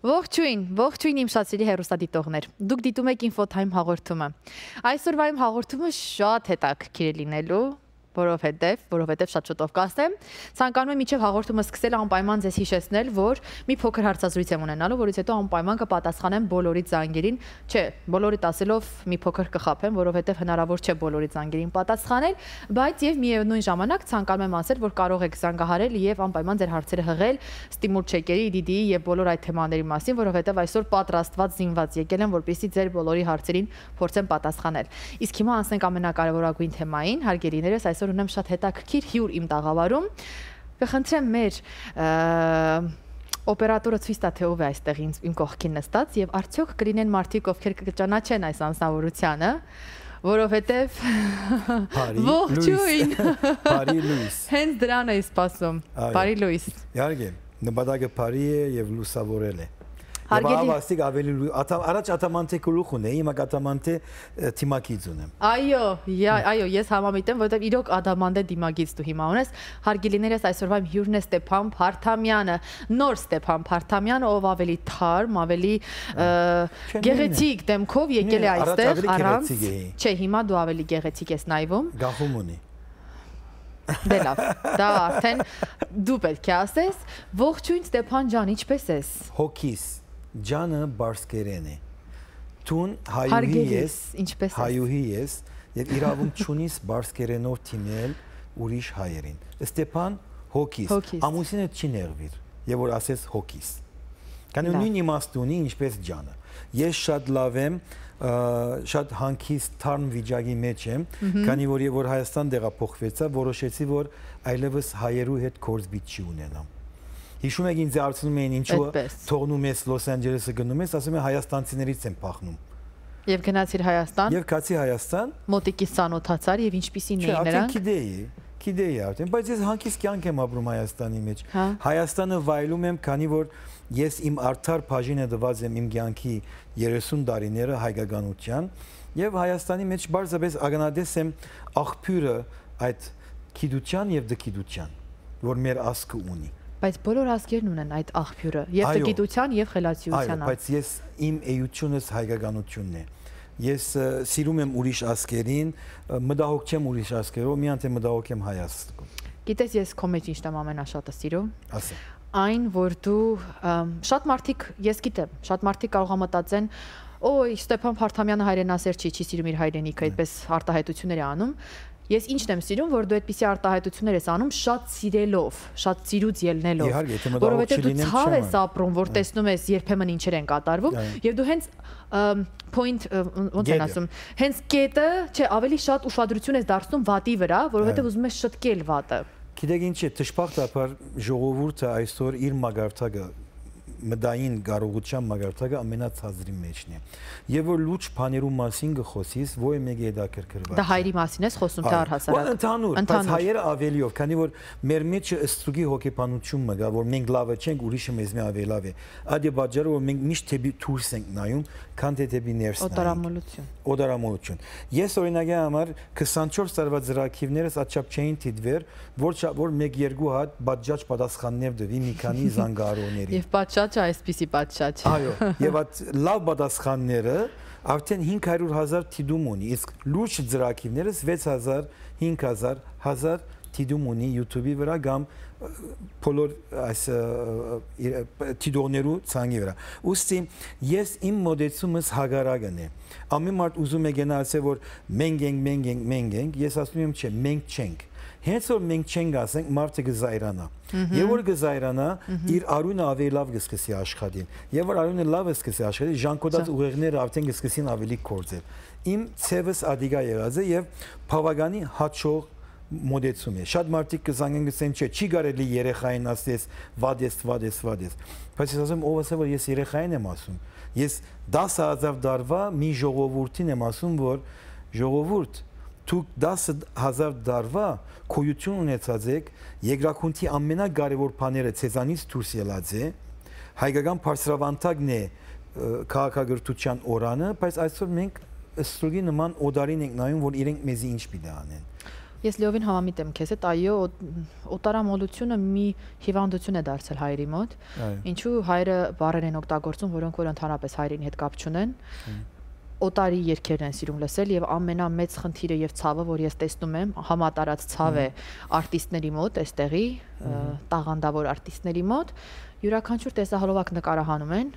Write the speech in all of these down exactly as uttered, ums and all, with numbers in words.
Ողջույն, ողջույն իմ շատ սիրելի հեռուստադիտողներ։ Դուք դիտում եք Infotime հաղորդումը։ Այսօրվա իմ հաղորդումը շատ հետաքրքիր է լինելու, որովհետև, որովհետև շատ շուտով կասեմ, ցանկանում եմ մինչև հաղորդումը սկսել անպայման ձեզ հիշեցնել, որ մի փոքր հարցազրույց եմ ունենալու, որից հետո անպայման կպատասխանեմ բոլորի զանգերին, չէ, բոլորիդ ասելով մի փոքր կխաբեմ, որովհետև հնարավոր չէ բոլորի զանգերին պատասխանել, բայց եւ միևնույն ժամանակ ցանկանում եմ ասել, որ կարող եք զանգահարել եւ անպայման ձեր հարցերը հղել Ստիմուլ Չեկերի, ի դի դի-ի եւ բոլոր այդ թեմաների մասին, որովհետև այսօր պատրաստված զինված եկել եմ, որպեսզի ձեր բոլորի հարցերին փորձեմ պատասխանել։ Իսկ հիմա անցնենք ամենակարևորագույն թեմային, հարգելիներս, այսօր ունեմ շատ հետաքրքիր հյուր իմ տաղավարում։ Կխնդրեմ մեր օպերատորը ցույց տա, թե ով է այստեղ իմ կողքին նստած եւ արդյոք կլինեն մարդիկ, ովքեր կճանաչեն այս անձնավորությունը, որովհետեւ ողջույն։ Բարի լույս։ Հենց դրան էի սպասում։ Բարի լույս։ Իհարկե, նպատակը բարի է եւ լուսավորել է։ Հարգելի Եվ ավելի առաջ ատամանթե գլուխ ունեի, հիմա ատամանթե թիմակից ունեմ։ Այո, այո, ես համամիտ եմ, որովհետև իրոք ադամանտե դիմագիծ դու հիմա ունես։ Հարգելիներս, այսօրվա իմ հյուրն է Ստեփան Փարթամյանը, նոր Ստեփան Փարթամյանը, ով ավելի թարմ, ավելի գեղեցիկ դեմքով եկել է այստեղ առանց։ Չէ, հիմա դու ավելի գեղեցիկ ես նայվում։ Գախում ունի։ Դե լավ, դա արդեն դու պետք է ասես։ Ողջույն Ստեփան ջան, ինչպե՞ս ես։ Հոգիս Ջանը բարսկերեն է։ Տուն հայուհի ես, հայուհի ես, եւ իրավունք չունիս բարսկերենով թիմել ուրիշ հայերին։ Ստեփան հոգիս, ամուսինը չի նեղվիր, եւ որ ասես հոգիս։ Քանի նույն իմաստ ունի ինչպես ջանը։ Ես շատ լավ եմ, շատ հանգիստ թարմ վիճակի մեջ եմ, քանի որ եւ որ Հայաստան տեղափոխվեցա, որոշեցի, որ այլևս հայերու հետ գործբիտ չի ունենամ։ Հիշում եք ինձ հարցնում էին ինչու թողնում ես Լոս Անջելեսը գնում ես, ասում եմ հայաստանցիներից եմ փախնում։ Եվ գնացիր Հայաստան։ Եվ գացի Հայաստան։ Մոտիկից ծանոթացար եւ ինչպիսին էին նրանք։ Չէ, գիտեի, գիտեի արդեն, բայց ես հանգիստ կյանք եմ ապրում Հայաստանի մեջ։ Հայաստանը վայելում եմ, քանի որ ես իմ արդար բաժինը դված եմ իմ կյանքի երեսուն տարիները հայկականության եւ Հայաստանի մեջ բարձրապես ագնադես եմ աղբյուրը այդ գիտության եւ դգիտության, որ մեր ազգը ունի։ Բայց բոլոր ազգերն ունեն այդ աղբյուրը, եւ դգիտության եւ խելացիության։ Այո, բայց ես իմ էությունս հայկականությունն է։ Ես սիրում եմ ուրիշ ազգերին, մտահոգ չեմ ուրիշ ազգերով, միայն թե մտահոգ եմ հայ ազգով։ Գիտես, ես քո մեջ ինչն եմ ամենաշատը սիրում։ Ասա։ Այն, որ դու շատ մարդիկ, ես գիտեմ, շատ մարդիկ կարող են մտածեն, օй, Ստեփան Փարթամյանը հայրենասեր չի, չի սիրում իր հայրենիքը, այդպես արտահայտություններ է անում։ Ես ինչն եմ սիրում, որ դու այդպիսի արտահայտություններ ես անում շատ սիրելով, շատ սիրուց ելնելով, որովհետև դու ցավ ես ապրում, որ տեսնում ես երբեմն ինչեր են կատարվում, եւ դու հենց point ոնց են ասում, հենց կետը, չէ, ավելի շատ ուշադրություն ես դարձնում վատի վրա, որովհետև ուզում ես շտկել վատը։ Գիտեք ինչ է, դժբախտաբար ժողովուրդը այսօր իր մագարտակը մտային կարողության մագարտակը ամենացածրի մեջն է։ Եվ որ լուրջ բաներու մասին գխոսիս, ոյ մեկ է դա կրկրված։ Դա հայերի մասին ես խոսում, թե առհասարակ։ Ընդհանուր, բայց հայերը ավելիով, քանի որ մեր մեջ ըստրուգի հոգեբանություն մգա, որ մենք լավը չենք, ուրիշը մեզ մի ավելի լավ է։ Այդ է պատճառը, որ մենք միշտ թեպի դուրս ենք նայում, քան թե թեպի ներս նայում։ Օտարամոլություն։ Օտարամոլություն։ Ես օրինակի համար քսանչորս տարվա ծրագիրներս աչափ չէին դիտվեր, որ որ մեկ երկու հատ բաժաճ պատասխաններ դվի մի քանի զանգարոների։ Եվ պատշաճը այսպիսի պատշաճ։ Այո, եւ այդ լավ պատասխանները արդեն հինգ հարյուր հազար թիդում ունի, իսկ լուրջ ծրագիրներս վեց հազար, հինգ հազար, հազար թիդում ունի YouTube-ի վրա կամ բոլոր այս թիդողներու ցանկի վրա։ Ուստի ես իմ մոդեցումս հագարակն է։ Ամեն մարդ ուզում է գնալ ասել, որ մենք ենք, մենք ենք, մենք ենք, ես ասում եմ չէ, մենք չենք։ Հենց որ մենք չենք ասենք, մարդը կզայրանա։ Եվ որ կզայրանա, իր արյունը ավելի լավ կսկսի աշխատել։ Եվ որ արյունը լավ կսկսի աշխատել, ժանկոդած ուղեղները արդեն կսկսին ավելի կործել։ Իմ ցևս ադիգա եղած է եւ բավականի հաճող մոդեցում է։ Շատ մարդիկ կզանգեն գսեն, չէ, չի կարելի երեխային ասես, վադես, վադես, վադես։ Բայց ես ասում, ով ասա, որ ես երեխային եմ ասում։ Ես դասը հազար տարվա մի ժողովրդին եմ ասում, որ ժողովուրդ դուք դասը հազար դարվա քույություն ունեցած եք, երկրախնդի ամենակարևոր բաները ցեզանից դուրս ելած է, հայկական բարձրավանդակն է քաղաքագրթության օրանը, բայց այսօր մենք ստրուգի նման օդարին ենք նայում, որ իրենք մեզի ինչ պիտի անեն։ Ես լիովին համամիտ եմ քեզ հետ, այո, օտարամոլությունը մի հիվանդություն է դարձել հայերի մոտ, ինչու հայերը բառեր են օգտագործում, որոնք որ ընդհանրապես հայերին հետ կապ չունեն, օտարի երգերն են սիրում լսել եւ ամենամեծ խնդիրը եւ ցավը, որ ես տեսնում եմ, համատարած ցավ է արտիստների մոտ, այստեղի տաղանդավոր արտիստների մոտ, յուրաքանչյուր տեսահոլովակ նկարահանում են,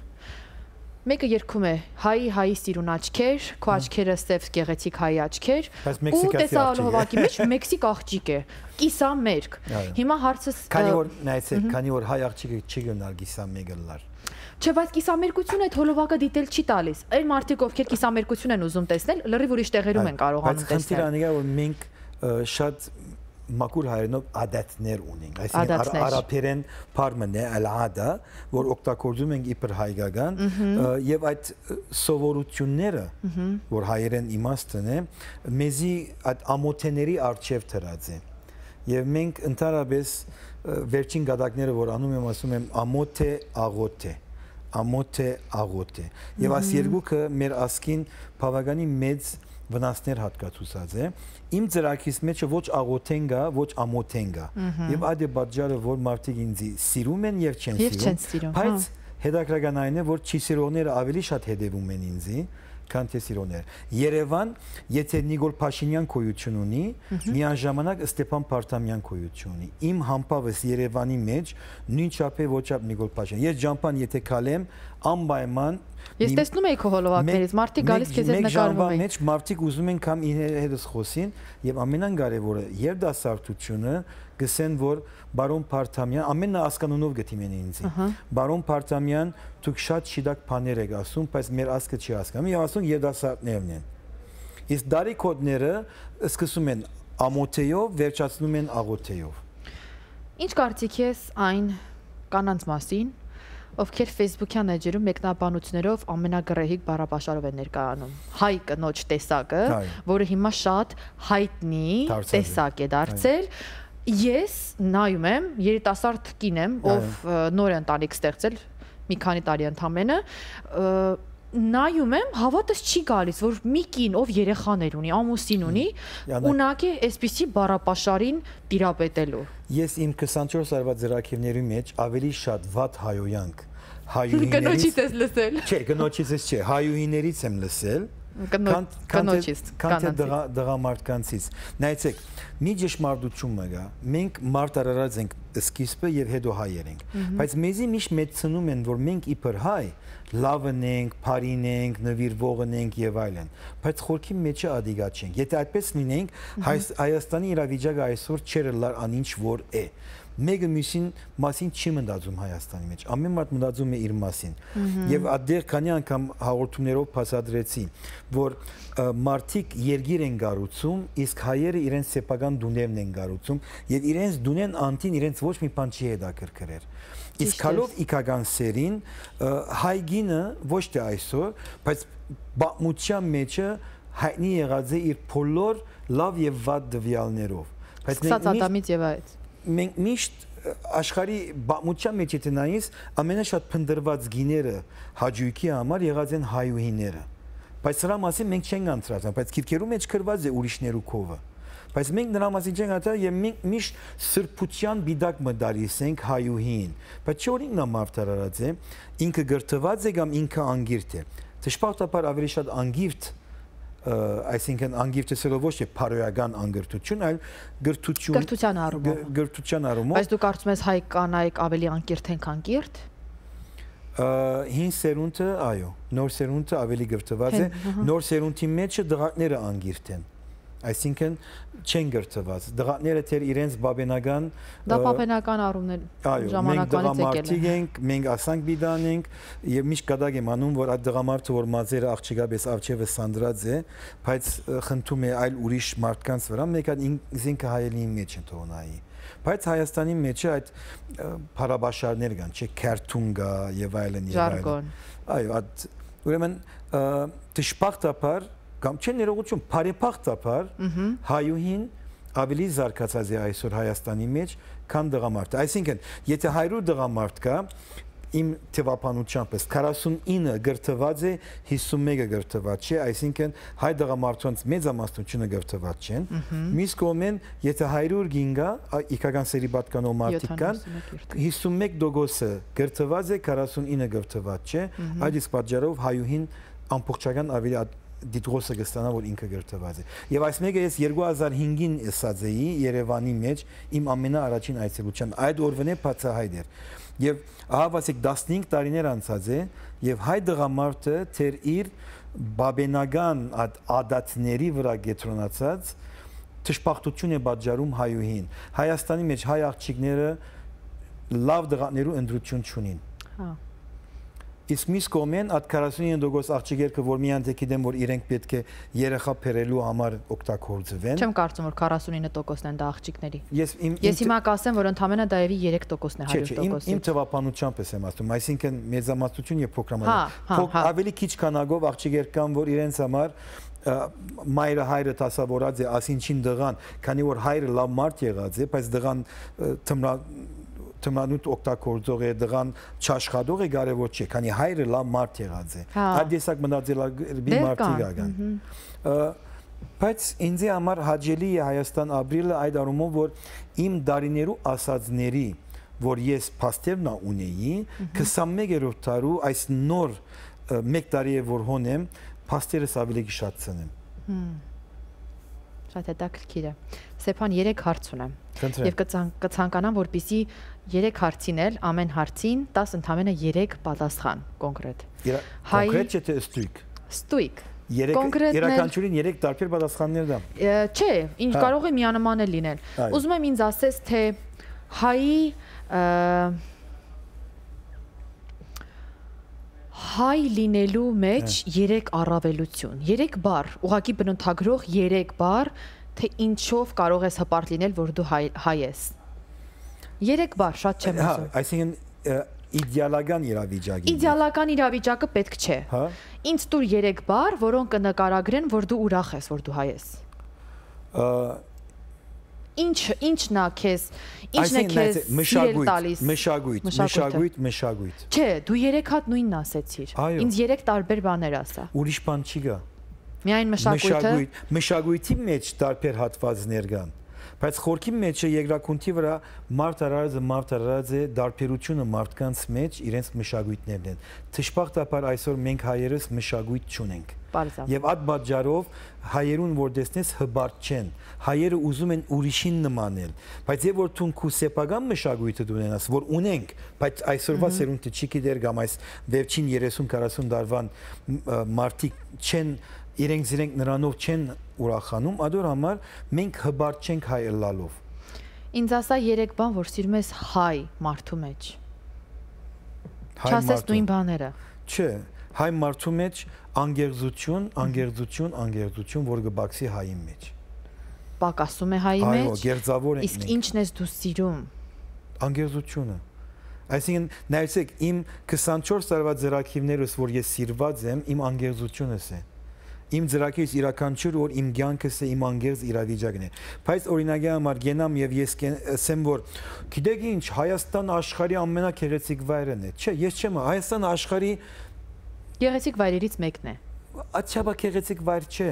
մեկը երգում է հայի հայի սիրուն աչքեր, քո աչքերը սև գեղեցիկ հայի աչքեր, ու տեսահոլովակի մեջ մեքսիկ աղջիկ է, կիսամերկ։ Հիմա հարցս քանի որ նայեցեք, քանի որ հայ աղջիկը չի գնալ կիսամերկ լար։ Չէ, բայց կիսամերկությունը այդ հոլովակը դիտել չի տալիս։ Այն մարդիկ, ովքեր կիսամերկություն են ուզում տեսնել, լրիվ ուրիշ տեղերում են կարողանում տեսնել։ Բայց խնդիրը այն է, որ մենք շատ մաքուր հայերենով ադատներ ունենք, այսինքն արաբերեն բառն է ալ-ադա, որ օգտագործում ենք իբր հայկական, եւ այդ սովորությունները, որ հայերեն իմաստն է, մեզի այդ ամոթեների արժև դրած է։ Եվ մենք ընդհանրապես վերջին գադակները, որ անում եմ, ասում եմ ամոթ է, աղոթ է, ամոթ է, աղոթ է։ Եվ այս երկուքը մեր ասկին բավականին մեծ վնասներ հատկացուցած է։ Իմ ծրագրիս մեջ ոչ աղոթեն գա, ոչ ամոթեն գա։ Եվ այդ է պատճառը, որ մարդիկ ինձ սիրում են եւ չեն սիրում։ Բայց հետաքրքրական այն է, որ չսիրողները ավելի շատ հետևում են ինձի, քան թե սիրողները։ Երևան, եթե Նիկոլ Փաշինյան գոյություն ունի, միաժամանակ Ստեփան Փարթամյան գոյություն ունի։ Իմ համբավս Երևանի մեջ նույնչափ է ոչափ Նիկոլ Փաշինյան։ Ես ջամփան եթե քալեմ, անպայման Ես տեսնում եի քո հոլովակներից, մարդիկ գալիս քեզ հետ նկարվում են։ Մեջ մարդիկ ուզում են կամ իրենց խոսին եւ ամենակարևորը երդասարտությունը գսեն որ բարոն Փարթամյան ամենը հասկանունով գտիմեն ինձ։ Բարոն Փարթամյան դուք շատ շիդակ բաներ եք ասում, բայց մեր ասկը չի հասկանում եւ ասում երդասարտներն են։ Իսկ դարի կոդները սկսում են ամոթեյով, վերջացնում են աղոթեյով։ Ինչ կարծիք ես այն կանանց մասին, ովքեր Facebook-յան էջերում մեկնաբանություններով ամենագրեհիկ բառապաշարով են ներկայանում։ Հայ կնոջ տեսակը, որը հիմա շատ հայտնի տեսակ է դարձել։ Ես նայում եմ, երիտասարդ կին եմ, ով նոր ընտանիք ստեղծել, մի քանի տարի ընդամենը, նայում եմ, հավատս չի գալիս, որ մի կին, ով երեխաներ ունի, ամուսին ունի, ունակ է այսպիսի բառապաշարին տիրապետելու։ Ես իմ քսանչորս տարվա ծրագրերի մեջ ավելի շատ վատ հայոյանք Կնոջից ես լսել։ Չէ, կնոջից ես չէ, հայուհիներից եմ լսել, կնոջից, քան թե դղամարդկանցից։ Նայեցեք, մի ճշմարտություն կա, մենք մարդ արարած ենք սկիզբը եւ հետո հայեր ենք, բայց մեզի միշտ մեծնում են, որ մենք իբր հայ լավն ենք, բարին ենք, նվիրվողն ենք եւ այլն, բայց խորքի մեջը ադիգա չենք։ Եթե այդպես լինենք, Հայաստանի իրավիճակը այսօր չէր լար անինչ որ է։ Մեկը մյուսին մասին չի մտածում Հայաստանի մեջ, ամեն մարդ մտածում է իր մասին։ Եվ այդտեղ քանի անգամ հաղորդումներով փաստադրեցի, որ մարդիկ երգիր են գառուցում, իսկ հայերը իրենց սեփական դուներն են գառուցում, եւ իրենց դունեն անտին իրենց ոչ մի բան չի հետաքրքրեր։ Իսկ հալով իքական սերին հայ գինը ոչ թե այսօր, բայց բամության մեջը հայտնի եղած է իր բոլոր լավ եւ վատ դվյալներով։ Բայց Ադամից եւ այդ մենք միշտ աշխարհի բամության մեջ եթե նայես ամենաշատ փնդրված գիները հաջույքի համար եղած են հայուհիները։ Բայց սրա մասին մենք չենք անցրացան, բայց քիրքերու մեջ գրված է ուրիշներու քովը։ Բայց մենք նրա մասին չենք ատա եւ մենք միշտ սրբության բիդակ մդարիս ենք հայուհին։ Բայց չէ որ ինքն ամարտարարած է, ինքը գրթված է կամ ինքը անգիրտ է։ Դժբախտաբար ավելի շատ անգիրտ, այսինքն անգիրտը սելով ոչ թե փարոյական անգիրտություն, այլ գրթություն, գրթության առումով։ Գրթության առումով։ Բայց դու կարծում ես հայ կանայք ավելի անգիրտ են, քան կիրթ։ Հին սերունդը, այո, նոր սերունդը ավելի գրթված է, նոր սերունդի մեջը դղակները անգիրտ են։ Այսինքն չեն գրթված։ Դղակները թեր իրենց բաբենական դա բաբենական առումներ ժամանակվանից եկել են։ Մենք ասանք բիդան ենք եւ միշտ կդակ եմ անում, որ այդ դղամարդը որ մազերը աղջիկաբես արջևը սանդրած է, բայց խնդում է այլ ուրիշ մարդկանց վրա, մեկ այդ ինքը հայելի մեջ են թողնայի։ Բայց Հայաստանի մեջ այդ փարաբաշարներ կան, չէ, քերթուն կա եւ այլն եւ այլն։ Ժարգոն։ Այո, այդ ուրեմն դժբախտաբար կամ չէ ներողություն, բարեփոխտաբար հայուհին ավելի զարգացած է այսօր Հայաստանի մեջ, քան տղամարդը։ Այսինքն, եթե հարյուր տղամարդ կա, իմ թվապանությամբ քառասունինը գրթված է, հիսունմեկը գրթված չէ, այսինքն հայ տղամարդոնց մեծամասնությունը գրթված չեն։ Մյուս կողմեն, եթե հարյուր գին կա, իքական սերի պատկանող մարդիկ կան, հիսունմեկ տոկոսը գրթված է, քառասունինը գրթված չէ, այդ իսկ պատճառով հայուհին ամբողջական ավելի դիտողը կստանա, որ ինքը գրթված է։ Եվ այս մեկը ես երկու հազար հինգին ասած էի Երևանի մեջ իմ ամենաառաջին այցելության, այդ օրվան է բացահայտ էր։ Եվ ահավասիկ տասնհինգ տարիներ անցած է, եւ հայ դղամարդը թեր իր բաբենական ադատների վրա գետրոնացած թշպախտություն է պատճառում հայուհին։ Հայաստանի մեջ հայ աղջիկները լավ դղաներու ընտրություն չունին։ Հա։ Իսկ մյուս կողմեն այդ քառասունինը տոկոս աղջիկերքը, որ միայն թե գիտեմ, որ իրենք պետք է երեխա բերելու համար օգտագործվեն։ Չեմ կարծում, որ քառասունինը տոկոսն են դա աղջիկների։ Ես հիմա կասեմ, որ ընդամենը դայևի երեք տոկոսն է հարյուր տոկոսից։ Իմ թվապանությամբ եմ ասում, այսինքն մեծամասնություն եւ փոքրամասնություն։ Ավելի քիչ քանակով աղջիկեր կան, որ իրենց համար մայրը հայրը դասավորած է ասինչին դղան, քանի որ հայրը լավ մարդ եղած է, բայց դղան թմրանուտ օգտագործող է, դղան չաշխատող է, կարևոր չէ, քանի հայրը լավ մարդ եղած է։ Այդ տեսակ մտածելակերպի մարդիկ ական։ Բայց ինձ համար հաճելի է Հայաստան ապրելը այդ առումով, որ իմ դարիներու ասածների, որ ես փաստերն ունեի, քսանմեկերորդ դարու այս նոր մեկ տարի է որ հոնեմ, փաստերս ավելի գիշատցնեմ։ Շատ հետաքրքիր է։ Սեփան երեք հարց ունեմ։ Եվ կցանկանամ, որպեսզի երեք հարցին էլ ամեն հարցին տաս ընդամենը երեք պատասխան կոնկրետ։ Կոնկրետ չէ թե ստույգ։ Ստույգ։ Երեքանչյուրին երեք տարբեր պատասխաններ դա։ Չէ, ինչ կարող է միանման էլ լինել։ Ուզում եմ ինձ ասես, թե հայի հայ լինելու մեջ երեք առավելություն, երեք բառ, ուղղակի բնութագրող երեք բառ, թե ինչով կարող ես հպարտ լինել, որ դու հայ ես։ Երեք բառ, շատ չեմ ուզում։ Այսինքն իդեալական իրավիճակը։ Իդեալական իրավիճակը պետք չէ։ Ինձ տուր երեք բառ, որոնք կնկարագրեն, որ դու ուրախ ես, որ դու հայ ես։ Ինչ ինչն է քեզ, ինչն է քեզ սիրել տալիս։ Մշակույթ, մշակույթ, մշակույթ։ Չէ, դու երեք հատ նույնն ասեցիր։ Ինձ երեք տարբեր բաներ ասա։ Ուրիշ բան չի գա։ Միայն մշակույթը։ Մշակույթի մեջ տարբեր հատվածներ կան։ Բայց խորքի մեջ երկրակունքի վրա մարդ արարածը մարդ արարած է դարբերությունը մարդկանց մեջ իրենց մշակույթներն են։ Թշպախտաբար այսօր մենք հայերս մշակույթ չունենք։ Եվ այդ պատճառով հայերուն որ տեսնես հբարտ չեն, հայերը ուզում են ուրիշին նմանել, բայց եւ որ թուն քու սեփական մշակույթը դունենաս, որ ունենք, բայց այսօրվա սերունդը չի գիտեր կամ այս վերջին երեսուն քառասուն տարվան մարդիկ չեն իրենք իրենք նրանով չեն ուրախանում, ադոր համար մենք հբարտ չենք հայ ըլլալով։ Ինձ ասա երեք բան, որ սիրում ես հայ մարդու մեջ։ Չասես նույն բաները։ Չէ, հայ մարդու մեջ անգերձություն, անգերձություն, անգերձություն, որ կբացի հայի մեջ։ Պակասում է հայի մեջ։ Այո, գերձավոր ենք։ Իսկ ինչն ես դու սիրում։ Անգերձությունը։ Այսինքն, նայեցեք, իմ քսանչորս տարվա ձեռագիրներս, որ ես սիրված եմ, իմ անգերձությունս է։ Իմ ձեռագիրս իրականչուր, որ իմ կյանքս է, իմ անգերձ իրավիճակն է։ Բայց օրինակի համար գենամ եւ ես ասեմ, որ գիտեք ինչ, Հայաստանը աշխարհի ամենագեղեցիկ վայրն է։ Չէ, ես չեմ, Հայաստանը աշխարհի գեղեցիկ վայրերից մեկն է։ Աչաբա գեղեցիկ վայր չէ։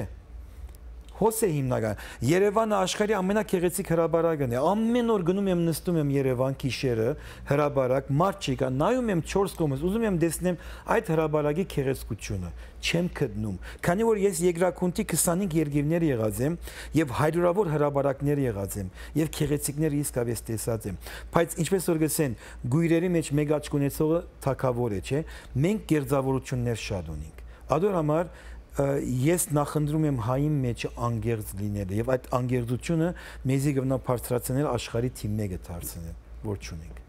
Հոս է հիմնական։ Երևանը աշխարհի ամենագեղեցիկ հրաբարակն է։ Ամեն օր գնում եմ նստում եմ Երևան գիշերը, հրաբարակ, մարդ չի կա, նայում եմ չորս կողմից, ուզում եմ տեսնեմ այդ հրաբարակի գեղեցկությունը։ Չեմ գտնում։ Քանի որ ես երկրակունքի քսանհինգ երկիրներ եղած եմ եւ հարյուրավոր հրաբարակներ եղած եմ եւ գեղեցիկներ իսկապես տեսած եմ։ Բայց ինչպես որ գսեն, գույրերի մեջ մեկ աչք ունեցողը թակավոր է, չէ՞։ Մենք գերձավորություններ շատ ունենք։ Ադոր համար ես նախընտրում եմ հայի մեջ անգերձ լինելը եւ այդ անգերձությունը մեզի գտնա բարձրացնել աշխարհի թիմ մեկը դարձնել, որ չունենք։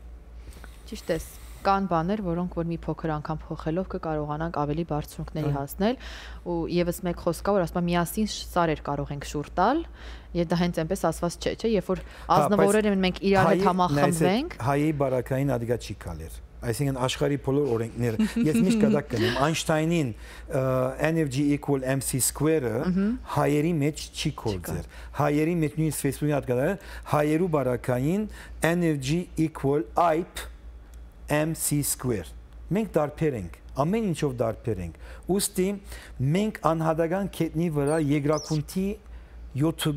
Ճիշտ է։ Կան բաներ, որոնք որ մի փոքր անգամ փոխելով կկարողանանք ավելի բարձունքների հասնել ու եւս մեկ խոսք կա, որ ասում եմ միասին սարեր կարող ենք շուռ տալ եւ դա հենց այնպես ասված չէ, չէ, երբ որ ազնվորերը մենք իրար հետ համախմբվենք, հայերի բարակային ադիգա չի կալեր։ Այսինքն աշխարհի բոլոր օրենքները, ես միշտ կդակ կնեմ, Այնշտայնին energy equal mc square-ը հայերի մեջ չի կորձեր։ Հայերի մեջ նույնիսկ Facebook-ի հատ կդա, հայերու բարակային energy equal I P mc square։ Մենք դարբեր ենք, ամեն ինչով դարբեր ենք։ Ուստի մենք անհատական կետնի վրա երկրակունթի յոթ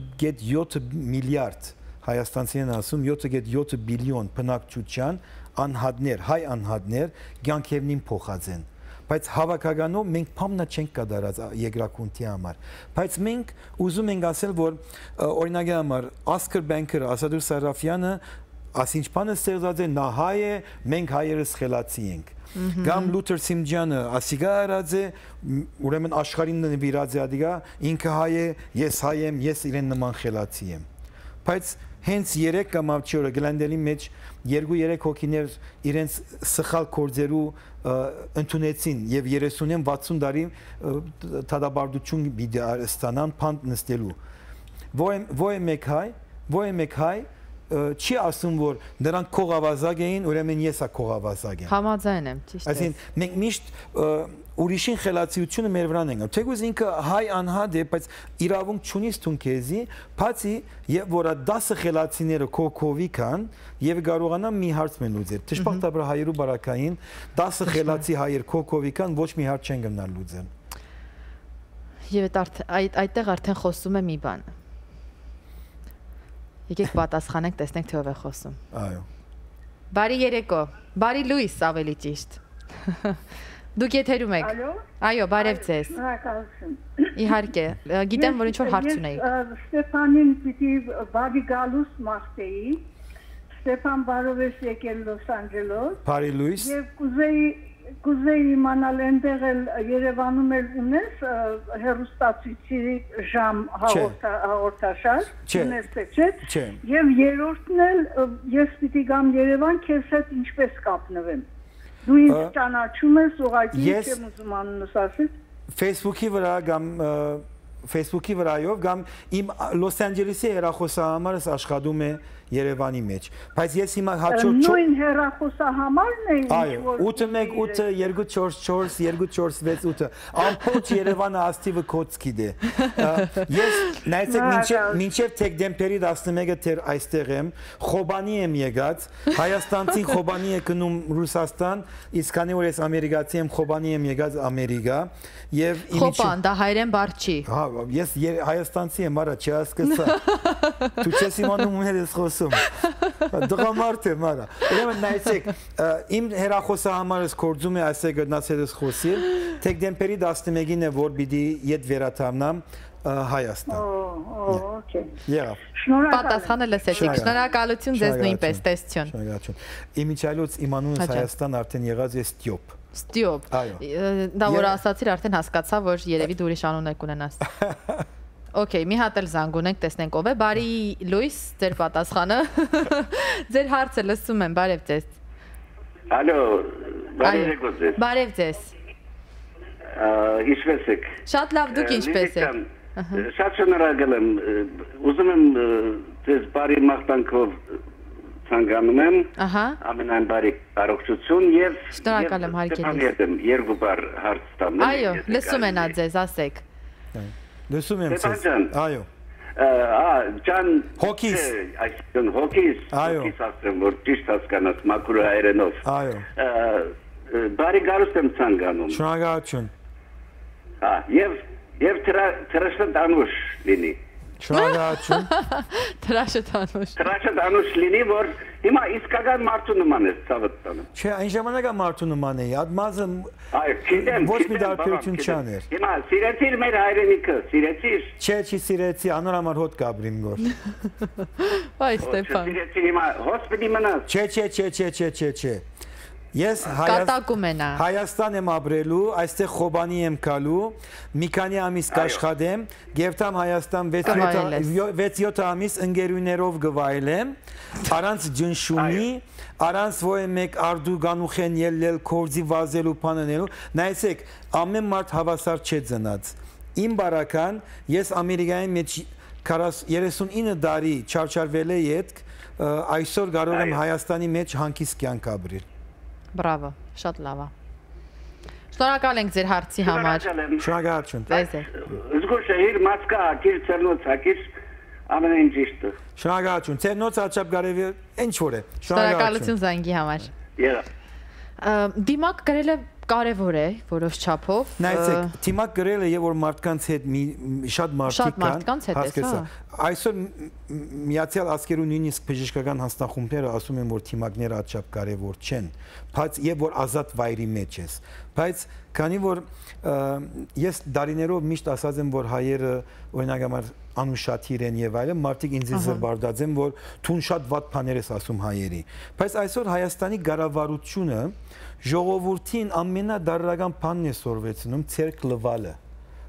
յոթ միլիարդ Հայաստանցին ասում յոթ յոթ բիլիոն բնակչության անհատներ, հայ անհատներ կյանքերին փոխած են։ Բայց հավաքականով մենք փամնա չենք կատարած երկրակունթի համար։ Բայց մենք ուզում ենք ասել, որ օրինակի համար Oscar Banker-ը, Ասադուր Սարաֆյանը ասինչ բանը ստեղծած է, նա հայ է, մենք հայերս խելացի ենք։ Կամ Լութեր Սիմջյանը ասիգա արած է, ուրեմն աշխարհին նվիրած է ադիգա, ինքը հայ է, ես հայ եմ, ես իրեն նման խելացի եմ։ Բայց հենց երեք կամ ավչի օրը Գլանդելի մեջ երկու-երեք հոգիներ իրենց սխալ կորձերու ընդունեցին եւ երեսունին վաթսուն տարի թադաբարդություն բիդի ստանան փանդ նստելու։ Ոյ մեկ հայ, ոյ մեկ հայ չի ասում, որ նրանք քողավազակ էին, ուրեմն ես ա քողավազակ եմ։ Համաձայն եմ, ճիշտ է։ Այսինքն մենք միշտ ուրիշին խելացիությունը մեր վրան ենք։ Թեկուզ ինքը հայ անհատ է, բայց իրավունք չունի ստուն քեզի, բացի եւ որ դասը խելացիները քոքովի կան եւ կարողանա մի հարց մեն լուծել։ Դժբախտաբար հայերու բարակային դասը խելացի հայեր քոքովի կան, ոչ մի հարց չեն գնալ լուծել։ Եվ այդ այդտեղ արդեն խոսում է մի բան։ Եկեք պատասխանենք, տեսնենք թե ով է խոսում։ Այո։ Բարի երեկո, բարի լույս ավելի ճիշտ։ Դուք եթերում եք։ Ալո։ Այո, բարև ձեզ։ Շնորհակալություն։ Իհարկե, գիտեմ, որ ինչ որ հարց ունեի։ Ստեփանին պիտի բարի գալուս մաղթեի։ Ստեփան բարով ես եկել Լոս Անջելոս։ Բարի լույս։ Եվ կուզեի կուզեի իմանալ այնտեղ էլ Երևանում էլ ունես հեռուստացույցի ժամ հաղորդաշար, ունես թե չէ։ Չէ։ Եվ երրորդն էլ ես պիտի գամ Երևան, քեզ հետ ինչպես կապնվեմ։ Դու ինձ ճանաչում ես, ուղղակի չեմ ուզում անունս ասել։ Facebook-ի վրա կամ Facebook-ի վրայով կամ իմ Լոս Անջելեսի հեռախոսահամարս աշխատում է Երևանի մեջ, բայց ես հիմա հաջորդ նույն հեռախոսահամարն է այո ութ մեկ ութ երկու չորս չորս երկու չորս վեց ութ ամբողջ Երևանը աստիվը կոծքի դե ես նայեցեք մինչև մինչև դեկտեմբերի տասնմեկը թեր այստեղ եմ Խոբանի եմ եկած Հայաստանցին Խոբանի է գնում Ռուսաստան իսկ քանի որ ես ամերիկացի եմ Խոբանի եմ եկած Ամերիկա եւ Խոբան դա հայերեն բառ չի հա ես հայաստանցի եմ արա չհասկացա դու չես իմանում ում հետ ես խոսում դղամարդ եմ արա ուրեմն նայեցեք իմ հեռախոսահամարս կորձում է այսե գտնացել ես խոսիլ դեկտեմբերի տասնմեկին է որ պիտի իդ վերաթարնամ Հայաստան օքեյ եղավ պատասխանը լսեցիք շնորհակալություն ձեզ նույնպես տեսություն շնորհակալություն իմիջայլոց իմանունս Հայաստան արդեն եղած է Ստյոպ Ստյոպ դա որ ասացիր արդեն հասկացա որ երևի դու ուրիշ անուն եք ունենաս Okay, մի հատ էլ զանգ ունենք, տեսնենք ով է։ Բարի լույս, ձեր պատասխանը։ Ձեր հարցը լսում եմ, բարև ձեզ։ Ալո, բարև եկո ձեզ։ Բարև ձեզ։ Ինչպես եք։ Շատ լավ, դուք ինչպես եք։ Շատ շնորհակալ եմ։ Ուզում եմ ձեզ բարի մաղթանքով ցանկանում եմ։ Ահա։ Ամենայն բարի առողջություն եւ շնորհակալ եմ հարգելի։ Երկու բառ հարց տամ։ Այո, լսում են ձեզ, ասեք։ Լսում եմ ձեզ։ Այո։ Ա, ջան, հոգիս։ Այսինքն հոգիս, հոգիս ասեմ, որ ճիշտ հասկանաս մաքուր հայերենով։ Այո։ Բարի գալուստ եմ ցանկանում։ Շնորհակալություն։ Հա, եւ եւ տրաշը դանուշ լինի։ Շնորհակալություն։ Տրաշը դանուշ։ Տրաշը դանուշ լինի, որ հիմա իսկական մարդու նման է ցավդ տանը։ Չէ, այն ժամանակ մարդու նման է, ադմազը այո, գիտեմ, ոչ մի դարբերություն չաներ։ Հիմա սիրեցիր մեր հայրենիքը, սիրեցիր։ Չէ, չի սիրեցի, անորամար հոտ կաբրիմ գոր։ Այ Ստեփան։ Սիրեցի հիմա հոսպիտի մնաց։ Չէ, չէ, չէ, չէ, չէ, չէ, չէ։ Ես կատակում են Հայաստան եմ ապրելու, այստեղ Խոբանի եմ գալու, մի քանի ամիս կաշխատեմ, գերտամ Հայաստան վեց յոթ ամիս ընկերուներով գվայելեմ, առանց ջնշումի, առանց ոյ մեկ արդու գանուխեն ելնել, կորձի վազելու, պանանելու, նայեցեք, ամեն մարդ հավասար չէ ծնած։ Իմ բարական, ես Ամերիկայի մեջ երեսունինը տարի չարչարվել է ետք, այսօր կարող եմ Հայաստանի մեջ հանգիստ կյանք ապրել։ Բրավո, շատ լավ է։ Շնորհակալ ենք ձեր հարցի համար։ Շնորհակալություն։ Զգուշ է, իր մասկա ակիր, ծերնոց ակիր, ամենայն ճիշտը։ Շնորհակալություն, ծերնոց աչապ գարևի, ինչ որ է։ Շնորհակալություն զանգի համար։ Դիմակ գրել է կարևոր է, որոշ չափով։ Նայեցեք, դիմակ գրելը եւ որ մարդկանց հետ շատ մարդիկ կան, հասկացա։ Այսօր Միացյալ Աշխարհի նույնիսկ բժշկական հանձնախումբները ասում են, որ դիմակները ատչափ կարևոր չեն, բայց եւ որ ազատ վայրի մեջ ես։ Բայց քանի որ ես դարիներով միշտ ասած եմ, որ հայերը օրինակ համար անուշատիր են եւ այլն, մարդիկ ինձ զրբարդած են, որ թուն շատ վատ բաներ ես ասում հայերի։ Բայց այսօր Հայաստանի ղարավարությունը ժողովրդին ամենադարրական բանն է սորվեցնում ցերկ լվալը։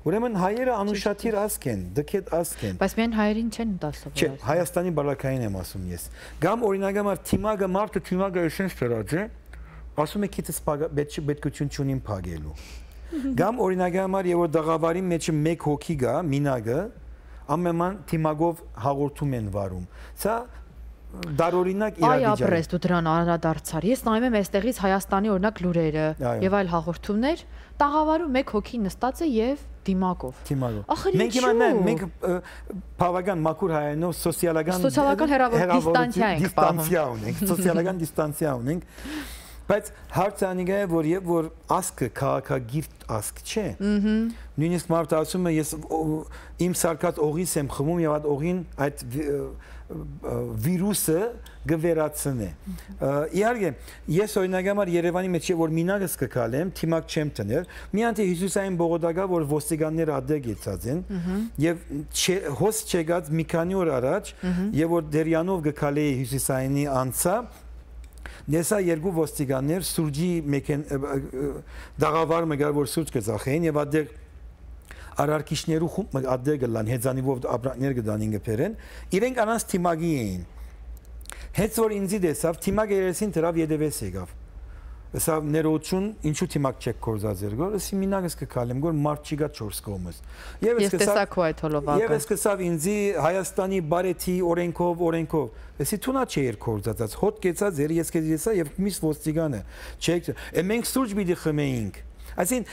Ուրեմն հայերը անուշատիր ազգ են, դքետ ազգ են։ Բայց միայն հայերին չեն դասավորած։ Չէ, Հայաստանի բալակային եմ ասում ես։ Գամ օրինակ համար թիմագը մարդը թիմագը էսենց դրած է, ասում է քիթս պետքություն չունին փագելու։ Գամ օրինակ համար եւ որ դղավարի մեջ մեկ հոգի գա, մինագը, ամենան թիմագով հաղորդում են վարում։ Սա դարօրինակ իրավիճակ։ Այ ապրես դու դրան անդրադարձար։ Ես նայում եմ այստեղից Հայաստանի օրինակ լուրերը եւ այլ հաղորդումներ, տաղավարում մեկ հոգի նստած է եւ դիմակով։ Դիմակով։ Մենք հիմա մենք բավական մաքուր հայերենով սոցիալական սոցիալական դիստանցիա ենք դիստանցիա ունենք, սոցիալական դիստանցիա ունենք։ Բայց հարցը անիգա է, որ եւ որ ասկը քաղաքագիրտ ասկ չէ։ Նույնիսկ մարդը ասում է ես իմ սարկած օղիս եմ խմում եւ այդ օղին այդ վիրուսը գվերացնե։ Իհարկե, ես օրինակ համար Երևանի մեջ որ մինագս կգալեմ, թիմակ չեմ տներ, մի անտի հյուսիսային բողոքակա, որ ոստիկանները ադեգ եցած են, եւ հոս չեկած մի քանի օր առաջ, եւ որ դերյանով գկալեի հյուսիսայինի անցա, Նեսա երկու ոստիկաններ սուրճի մեկեն դաղավար մգար որ սուրճ կծախեին եւ ադեղ արարքիչներու խումբ ադեղ գլան հեծանիվով ապրանքներ գդանին գբերեն իրենք անանց թիմագի էին հենց որ ինձի դեսավ թիմագը երեսին դրավ յետևես եկավ Սա ներողություն ինչու թիմակ չեք կորզածեր գոր ասի մինագս կքալեմ գոր մարդ չի գա չորս կողմս եւ ես տեսակ ու այդ հոլովակը եւ ես կսավ ինձի Հայաստանի բարեթի օրենքով օրենքով ասի թունա չէ էր կորզածած հոտ կեցած էր ես կեցա եւ միս ոստիգանը չեք մենք սուրճ պիտի խմեինք այսին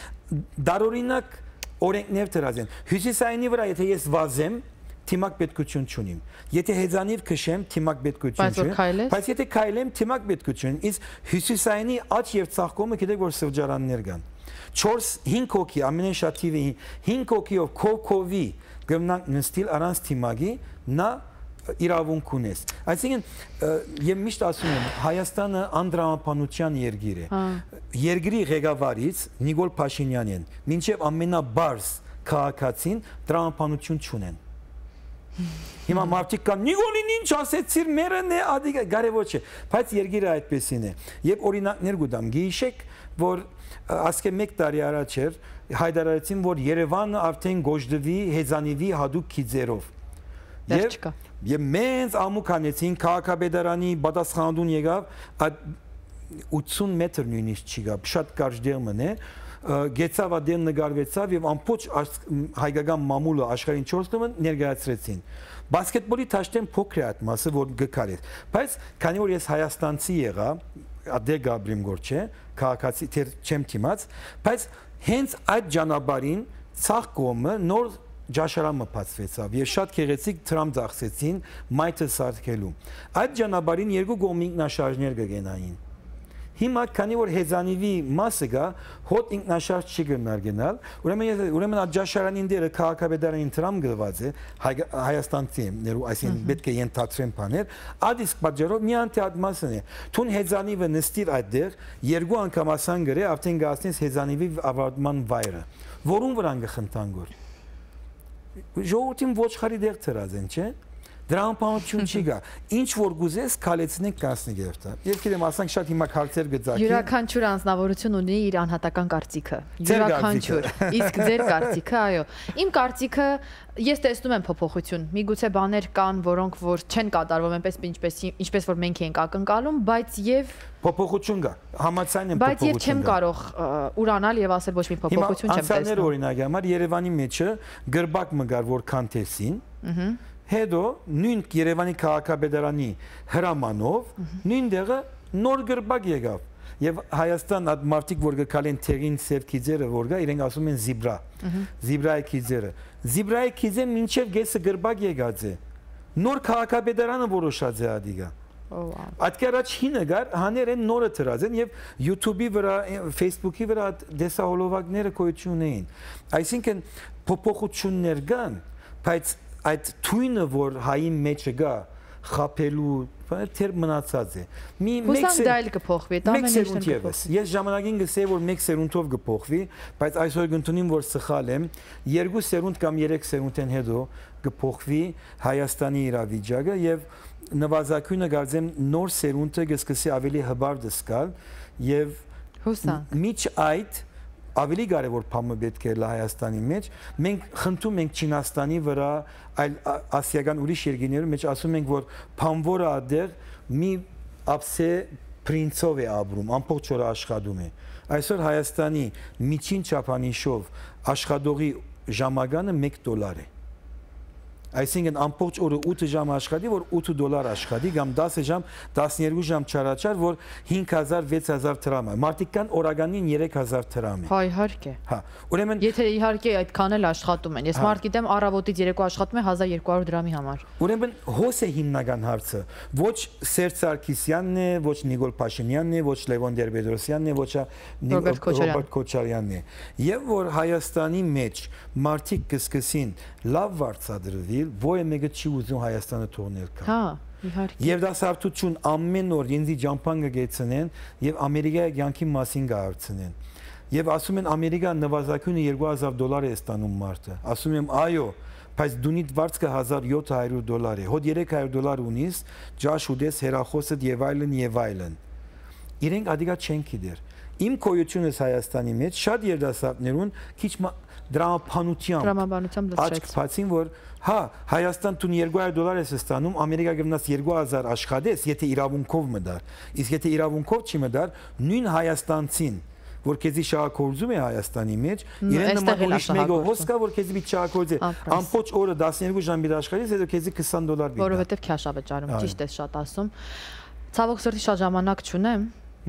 դարօրինակ օրենքներ դրած են հյուսիսայինի վրա եթե ես վազեմ թիմակ պետքություն չունիմ եթե հեծանիվ քշեմ թիմակ պետքություն չէ բայց եթե քայլեմ թիմակ պետքություն իսկ հյուսիսայինի աճ եւ ծաղկումը գիտեք որ սրճարաններ կան չորս հինգ հոգի ամենեն շատ թիվի հինգ հոգիով քոքովի գմնանք նստիլ առանց թիմակի նա իրավունք ունես այսինքն եւ միշտ ասում եմ Հայաստանը անդրամապանության երկիր է երկրի ղեկավարից Նիկոլ Փաշինյանին մինչեւ ամենաբարձ քաղաքացին դրամապանություն չունեն Հիմա մարդիկ կան Նիկոլին ինչ ասեցիր մերն է ադիգա կարևոր չէ բայց երկիրը այդպեսին է եւ օրինակներ գուտամ գիշեք որ ասկե մեկ տարի առաջ էր հայտարարեցին որ Երևանը արդեն գոժդվի հեծանիվի հadoop քիձերով եւ եւ մենք ամուք անեցին քաղաքապետարանի պատասխանատուն եկավ ութսուն մետր նույնիսկ չի գա շատ կարճ դերմն է գեցավ ադեն նկարվեցավ եւ ամբողջ հայկական մամուլը աշխարհին չորս տոմը ներկայացրեցին բասկետբոլի թաշտեն փոքր է այդ մասը որ գկար է բայց քանի որ ես հայաստանցի եղա ադե գաբրիմ գոր չէ քաղաքացի չեմ թիմած բայց հենց այդ ճանապարհին ցախ կողմը նոր ջաշարամը բացվեցավ եւ շատ քեղեցիկ տրամ ծախսեցին մայթը սարքելու այդ ճանապարհին երկու կողմի ինքնաշարժներ կգենային Հիմա քանի որ հեծանիվի մասը գա հոտ ինքնաշարժ չի գնար գնալ ուրեմն ուրեմն աջաշարանին դերը քաղաքապետարանին տրամ գված է Հայաստանցի ներու այսին պետք է ենթադրեն բաներ ադիսկ պատճառով մի անտի այդ մասն է թուն հեծանիվը նստիր այդտեղ երկու անգամ ասան գրե արդեն գացնես հեծանիվի ավարտման վայրը որուն վրան գխնդան գոր ժողովրդին ոչխարի դեղ ծրած են չէ Դրամապանություն չի գա։ Ինչ որ գուզես քալեցնենք կասնի գերտա։ Եվ գիտեմ, ասենք շատ հիմա քարտեր գծակի։ Յուրաքանչյուր անձնավորություն ունի իր անհատական կարծիքը։ Յուրաքանչյուր։ Իսկ ձեր կարծիքը, այո։ Իմ կարծիքը ես տեսնում եմ փոփոխություն։ Միգուցե բաներ կան, որոնք որ չեն կատարվում այնպես ինչպես ինչպես որ մենք ենք ակնկալում, բայց եւ փոփոխություն կա։ Համաձայն եմ բայց եւ չեմ կարող ուրանալ եւ ասել ոչ մի փոփոխություն չեմ տեսնում։ Անցյալներ օրինակ համար Երևանի մեջը գրբակ մգար որ քանթեսին։ Ըհը Հետո նույն Երևանի քաղաքապետարանի հրամանով նույն դեղը նոր գրբակ եկավ եւ Հայաստան այդ մարտիկ որ գկալեն թերին սև քիզերը որ գա իրենք ասում են զիբրա զիբրայի քիզերը զիբրայի քիզը մինչեւ գեսը գրբակ եկած է նոր քաղաքապետարանը որոշած է ադիգա Այդ կերաչ հինը գար հաներ են նորը թրած են եւ YouTube-ի վրա Facebook-ի վրա դեսահոլովակները կոյություն էին այսինքն փոփոխություններ կան բայց այդ թույնը որ հայի մեջը գա խապելու թեր մնացած է մի մեկ դայլ կփոխվի դա ամենից կփոխվի ես ժամանակին գսեի որ մեկ սերունդով կփոխվի բայց այսօր գտնունիմ որ սխալ եմ երկու սերունդ կամ երեք սերունդեն հետո կփոխվի Հայաստանի իրավիճակը եւ նվազագույնը գարձեմ նոր սերունդը կսկսի ավելի հբար դսկալ եւ հուսանք միջ այդ ավելի կարևոր բանը պետք է Հայաստանի մեջ մենք խնդրում ենք Չինաստանի վրա այլ ասիական ուրիշ երկրների մեջ ասում ենք որ բանվորը ադեր մի ապսե պրինցով է ապրում ամբողջ օրը աշխատում է այսօր Հայաստանի միջին չափանիշով աշխատողի ժամականը մեկ դոլար է Այսինքն ամբողջ օրը ութ ժամ աշխատի, որ ութ դոլար աշխատի, կամ դասը ժամ, տասներկու ժամ չարաչար, որ հինգ հազար, վեց հազար դրամ է։ Մարդիկ կան օրականին երեք հազար դրամ է։ Հա, իհարկե։ Հա, ուրեմն Եթե իհարկե այդքան էլ աշխատում են։ Ես մարդ գիտեմ առավոտից երեկո աշխատում է հազար երկու հարյուր դրամի համար։ Ուրեմն հոս է հիմնական հարցը։ Ոչ Սերժ Սարգսյանն է, ոչ Նիկոլ Փաշինյանն է, ոչ Լևոն Տեր-Պետրոսյանն է, ոչ Ռոբերտ Քոչարյանն է։ Եվ որ Հայաստանի մեջ մարդիկ կսկսին լավ վարձատրվի Ոյ մեկը չի ուզում Հայաստանը թողնել կա։ Հա, իհարկե։ Եվ դա սարթություն ամեն օր ինձի ջամփան կգեցնեն եւ Ամերիկայի կյանքի մասին կհարցնեն։ Եվ ասում են Ամերիկան նվազագույնը երկու հազար դոլար է ստանում մարդը։ Ասում եմ այո, բայց դունիդ վարձքը հազար յոթ հարյուր դոլար է։ Հոդ երեք հարյուր դոլար ունիս, ջաշ ուտես հերախոսդ եւ այլն եւ այլն։ Իրենք ադիգա չեն գիտեր։ Իմ կոյությունս Հայաստանի մեջ շատ երդասարտներուն քիչ դրամապանությամբ դրամաբանությամբ աչք բացին որ հա Հայաստան տուն երկու հարյուր դոլար է ստանում Ամերիկա գնաց երկու հազար աշխատես եթե իրավունքով մդար իսկ եթե իրավունքով չի մդար նույն հայաստանցին որ քեզի շահագործում է Հայաստանի մեջ իրեն նման ուրիշ մեկը հոսքա որ քեզի մի շահագործի ամբողջ օրը տասներկու ժամ մի աշխատես հետո քեզի քսան դոլար բիդա որովհետև քաշ է վճարում ճիշտ ես շատ ասում ցավոք սրտի շատ ժամանակ չունեմ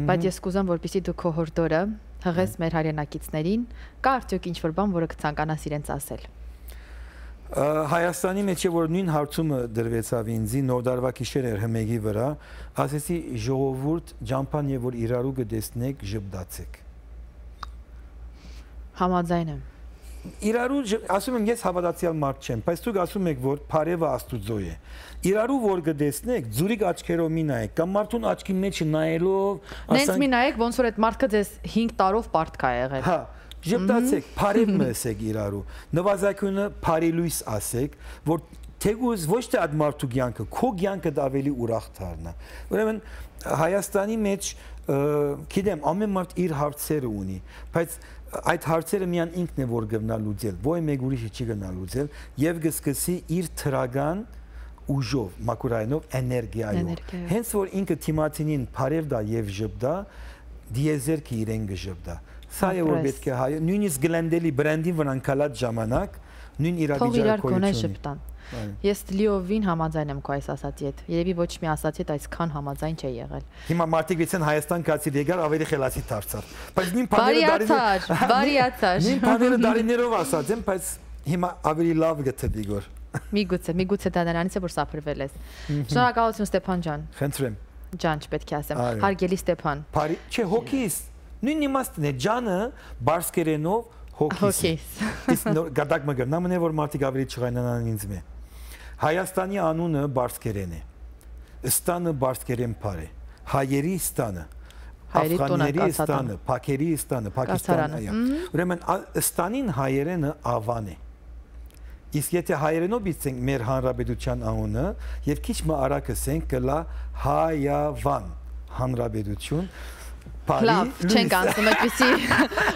բայց ես կուզեմ որպեսզի դու քո հորդորը հղես մեր հայրենակիցներին կա արդյոք ինչ-որ բան որը կցանկանաս իրենց ասել Հայաստանի մեջ որ նույն հարցումը դրվեցավ ինձի նոր դարվա գիշեր էր հմեգի վրա ասեցի ժողովուրդ ջամփան եւ որ իրարու կդեսնեք ժպտացեք Համաձայն եմ Իրարու ասում եմ ես հավատացյալ մարդ չեմ բայց դուք ասում եք որ Փարեվը Աստուծո է Իրարու որ կդեսնեք ձուրիկ աչքերով մի նայեք կամ մարդուն աչքի մեջ նայելով Նենց մի նայեք ոնց որ այդ մարդը ձեզ հինգ տարով պարտք է եղել Հա Ժպտացեք, Փարև ասեք իրարու, նվազագույնը Փարելույս ասեք, որ թեգուզ ոչ թե այդ մարդու կյանքը, քո կյանքը ավելի ուրախ դառնա։ Ուրեմն Հայաստանի մեջ գիտեմ, ամեն մարդ իր հարցերը ունի, բայց այդ հարցերը միան ինքն է որ գտնա լուծել, ոչ մեկ ուրիշը չի գտնա լուծել եւ կսկսի իր թրագան ուժով, մակուրայնով, էներգիայով։ Հենց որ ինքը թիմացինին Փարև դա եւ ժպտա, դիեզերքը իրեն կժպտա։ Սա է որ պետք է հայ նույնիսկ գլենդելի բրենդին վրան կալած ժամանակ նույն իրավիճակություն Ես լիովին համաձայն եմ քո այս ասացի հետ երևի ոչ մի ասացի հետ այսքան համաձայն չէ եղել Հիմա մարդիկ վեցեն Հայաստան կացի եկար ավելի խելացի դարձավ բայց նույն բարիացար բարիացար նույն բաները դարիներով ասած եմ բայց հիմա ավելի լավ գտտի գոր Միգուցե միգուցե դա նրանից է որ սափրվել ես Շնորհակալություն Ստեփան ջան Խնդրեմ Ջան չպետք է ասեմ հարգելի Ստեփան Բարի չէ հոգիս Նույն իմաստն է ջանը բարսկերենով հոգիս Իսկ գադակ մգր նամն է որ մարդիկ ավելի չղայնանան ինձ մե Հայաստանի անունը բարսկերեն է Ստանը բարսկերեն փար է Հայերի ստանը Աֆղանների ստանը Փաքերի ստանը Պակիստանը Ուրեմն ստանին հայերենը ավան է Իսկ եթե հայերենով բիցենք մեր հանրապետության անունը եւ քիչ մը արագ ասենք կլա Հայավան հանրապետություն Լավ, չենք անցնում այդպիսի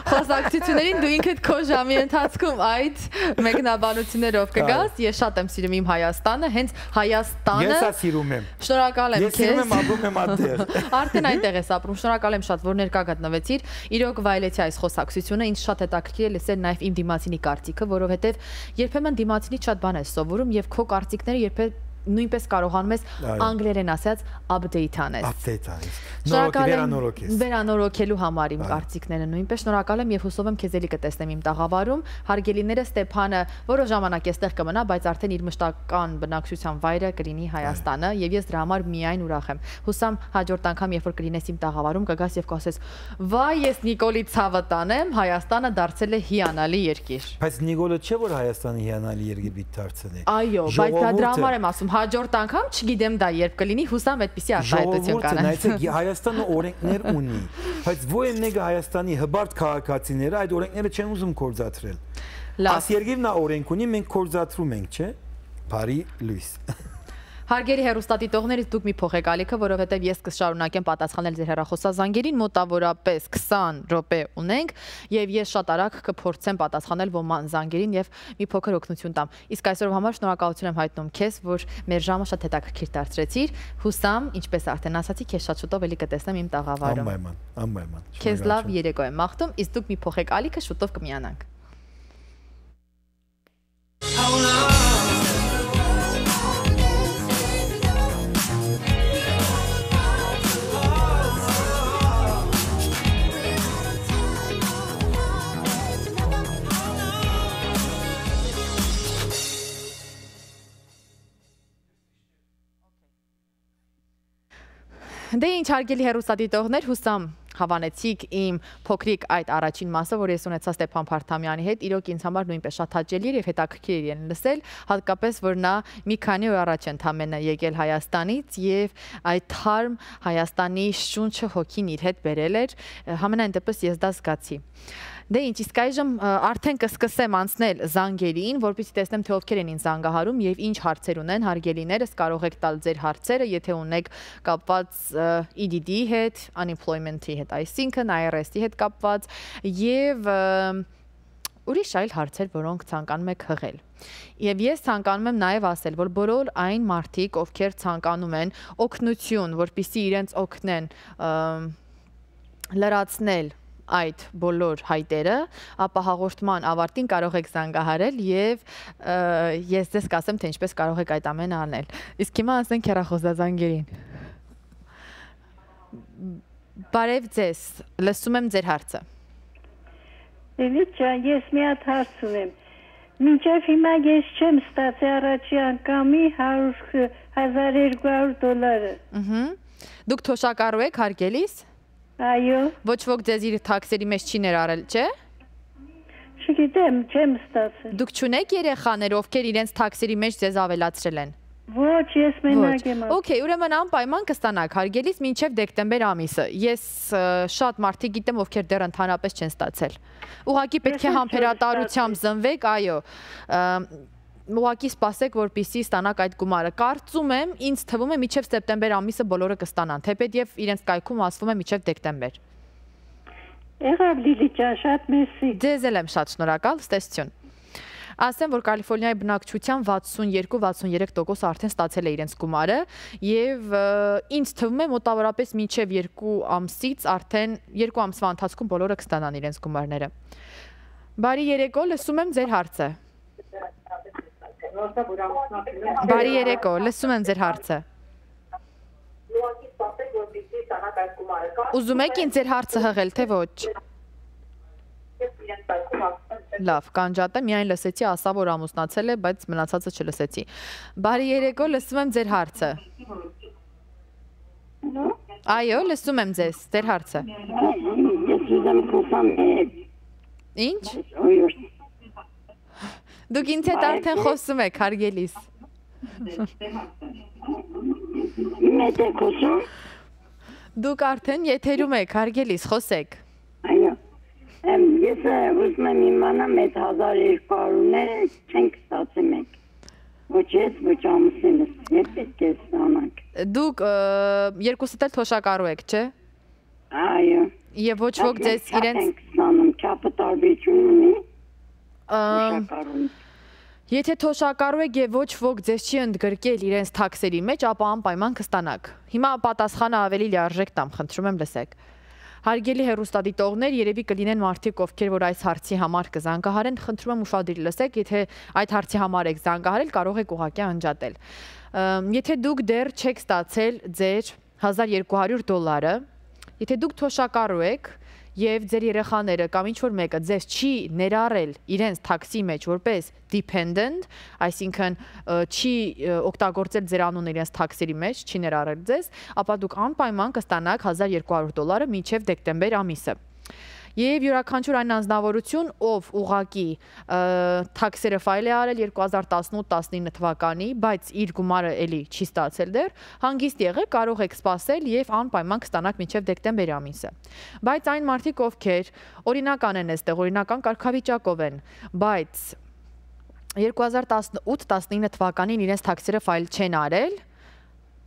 խոսակցություններին, դու ինքդ քո ժամի ընթացքում այդ մեկնաբանություններով կգաս, ես շատ եմ սիրում իմ Հայաստանը, հենց Հայաստանը Ես սիրում եմ։ Շնորհակալ եմ քեզ։ Ես սիրում եմ ապրում եմ այդտեղ։ Արդեն այնտեղ ես ապրում, շնորհակալ եմ շատ, որ ներկա գտնվեցիր։ Իրոք վայելեցի այս խոսակցությունը, ինձ շատ հետաքրքիր է լսել նաև իմ դիմացինի կարծիքը, որովհետև երբեմն դիմացինից շատ բան ես սովորում եւ քո կարծիքները երբեմն նույնպես կարողանում ես անգլերեն ասած update անես։ Update անես։ Նորոգ վերանորոգելու համար իմ կարծիքները նույնպես շնորհակալ եմ եւ հուսով եմ քեզ էլի կտեսնեմ իմ տաղավարում։ Հարգելիները Ստեփանը որոշ ժամանակ էստեղ կմնա, բայց արդեն իր մշտական բնակչության վայրը կլինի Հայաստանը եւ ես դրա համար միայն ուրախ եմ։ Հուսամ հաջորդ անգամ երբ որ կլինես իմ տաղավարում կգաս եւ կասես. «Վայ, ես Նիկոլի ցավը տանեմ, Հայաստանը դարձել է հիանալի երկիր»։ Բայց Նիկոլը չէ որ Հայաստանը հիանալի երկիր դարձել է։ Այո, բայց դա դրա համար եմ ասում հաջորդ անգամ չգիտեմ դա երբ կլինի, հուսամ այդպեսի արտահայտություն կանեն։ Ժողովուրդը Հայաստանը օրենքներ ունի, բայց ո՞ր են Հայաստանի հբարտ քաղաքացիները այդ օրենքները չեն ուզում կորզացրել։ Այս երկիրն նա օրենք ունի, մենք կորզացրում ենք, չէ՞։ Բարի լույս։ Հարգելի հեռուստադիտողներից դուք մի փոխեք ալիքը, որովհետև ես կշարունակեմ պատասխանել ձեր հեռախոսազանգերին, մոտավորապես քսան րոպե ունենք եւ ես շատ արագ կփորձեմ պատասխանել ոման զանգերին եւ մի փոքր օգնություն տամ։ Իսկ այսօրվա համար շնորհակալություն եմ հայտնում քեզ, որ մեր ժամը շատ հետաքրքիր դարձրեցիր։ Հուսամ, ինչպես արդեն ասացի, քեզ շատ շուտով էլի կտեսնեմ իմ տաղավարում։ Անպայման, անպայման։ Քեզ լավ երեկո եմ մաղթում, իսկ դուք մի փոխեք ալիքը, շուտով կմիանանք։ Դե ինչ հարգելի հեռուստադիտողներ, հուսամ հավանեցիք իմ փոքրիկ այդ առաջին մասը, որ ես ունեցա Ստեփան Փարթամյանի հետ, իրոք ինձ համար նույնպես շատ հաճելի էր եւ հետաքրքիր էր լսել, հատկապես որ նա մի քանի օր առաջ ընդամենը եկել Հայաստանից եւ այդ թարմ Հայաստանի շունչը հոգին իր հետ բերել էր, համենայն դեպս ես դա զգացի։ Դե ինչ, իսկ այժմ արդեն կսկսեմ անցնել զանգերին, որպեսզի տեսնեմ թե ովքեր են ինձ զանգահարում եւ ինչ հարցեր ունեն հարգելիներս, կարող եք տալ ձեր հարցերը, եթե ունեք կապված E D D-ի հետ, unemployment-ի հետ, այսինքն I R S-ի հետ կապված եւ ուրիշ այլ հարցեր, որոնք ցանկանում եք հղել։ Եվ ես ցանկանում եմ նաև ասել, որ բոլոր այն մարդիկ, ովքեր ցանկանում են օգնություն, որպեսզի իրենց օգնեն լրացնել այդ բոլոր հայտերը, ապա հաղորդման ավարտին կարող եք զանգահարել եւ ես ձեզ կասեմ, թե ինչպես կարող եք այդ ամենը անել։ Իսկ հիմա ասենք հեռախոսազանգերին։ Բարև ձեզ, լսում եմ ձեր հարցը։ Էլի ջան, ես մի հատ հարց ունեմ։ Մինչև հիմա ես չեմ ստացել առաջի անգամի հազար երկու հարյուր դոլարը։ Ըհը։ Դուք թոշակառու եք հարգելիս։ Այո։ Ոչ ոք ձեզ իր թաքսերի մեջ չի ներառել, չէ՞։ Չգիտեմ, չեմ ստացել։ Դուք չունեք երեխաներ, ովքեր իրենց թաքսերի մեջ ձեզ ավելացրել են։ Ոչ, ես մենակ եմ։ Okay, ուրեմն անպայման կստանաք հարգելիս մինչև դեկտեմբեր ամիսը։ Ես շատ մարդիկ գիտեմ, ովքեր դեռ ընդհանրապես չեն ստացել։ Ուղղակի պետք է համբերատարությամբ զնվեք, այո։ Ուղղակի սպասեք, որպեսզի ստանաք այդ գումարը։ Կարծում եմ, ինձ թվում է մինչև սեպտեմբեր ամիսը բոլորը կստանան, թեպետ իրենց կայքում ասվում է մինչև դեկտեմբեր։ Եղավ Լիլի ջան, շատ մերսի։ Ձեզ էլ եմ շատ շնորհակալ, ստեսություն։ Ասեմ, որ Կալիֆոռնիայի բնակչության վաթսունյոթ վաթսունյոթ տոկոս արդեն ստացել է իրենց գումարը եւ ինձ թվում է մոտավորապես մինչև երկու ամսից արդեն երկու ամսվա ընթացքում բոլորը կստանան իրենց գումարները։ Բարի երեկո, լսում եմ ձեր հարցը։ Բարի երեկո, լսում եմ ձեր հարցը։ Ուզում եք ինձ ձեր հարցը հղել, թե ոչ։ Լավ, կանջատը միայն լսեցի, ասա, որ ամուսնացել է, բայց մնացածը չլսեցի։ Բարի երեկո, լսում եմ ձեր հարցը։ Այո, լսում եմ ձեզ, ձեր հարցը։ Ինչ։ Դուք ինձ հետ արդեն խոսում եք, հարգելիս։ Մեծ եք խոսում։ Դուք արդեն եթերում եք, հարգելիս, խոսեք։ Այո։ Ես ուզում եմ իմանամ այդ հազար երկու հարյուրները չենք ստացել մենք։ Ոչ ես, ոչ ամուսինս, ես պետք է ստանանք։ Դուք երկուսդ էլ թոշակառու եք, չէ։ Այո։ Եվ ոչ ոք ձեզ իրենց ենք ստանում, չափը տարբերություն ունի։ Թոշակառուն։ Եթե թոշակառու եք եւ ոչ ոք ձեզ չի ընդգրկել իրենց թաքսերի մեջ, ապա անպայման կստանաք։ Հիմա պատասխանը ավելի լիարժեք տամ, խնդրում եմ լսեք։ Հարգելի հեռուստադիտողներ, երևի կլինեն մարդիկ, ովքեր որ այս հարցի համար կզանգահարեն, խնդրում եմ ուշադիր լսեք, եթե այդ հարցի համար եք զանգահարել, կարող եք ուղղակի անջատել։ Եթե դուք դեռ չեք ստացել ձեր հազար երկու հարյուր դոլարը, եթե դուք թոշակառու եք եւ ձեր երեխաները կամ ինչ որ մեկը ձեզ չի ներառել իրենց թաքսի մեջ որպես dependent, այսինքն չի օգտագործել ձեր անունը իրենց թաքսերի մեջ, չի ներառել ձեզ, ապա դուք անպայման կստանաք հազար երկու հարյուր դոլարը մինչև դեկտեմբեր ամիսը։ Եվ յուրաքանչյուր այն անձնավորություն, ով ուղղակի թաքսերը ֆայլ է արել երկու հազար տասնութ տասնինը թվականի, բայց իր գումարը էլի չի ստացել դեռ, հանգիստ եղեք, կարող եք սպասել եւ անպայման կստանաք մինչև դեկտեմբեր ամիսը։ Բայց այն մարդիկ, ովքեր օրինական են այստեղ, օրինական կարգավիճակով են, բայց երկու հազար տասնութ տասնինը թվականին իրենց թաքսերը ֆայլ չեն արել,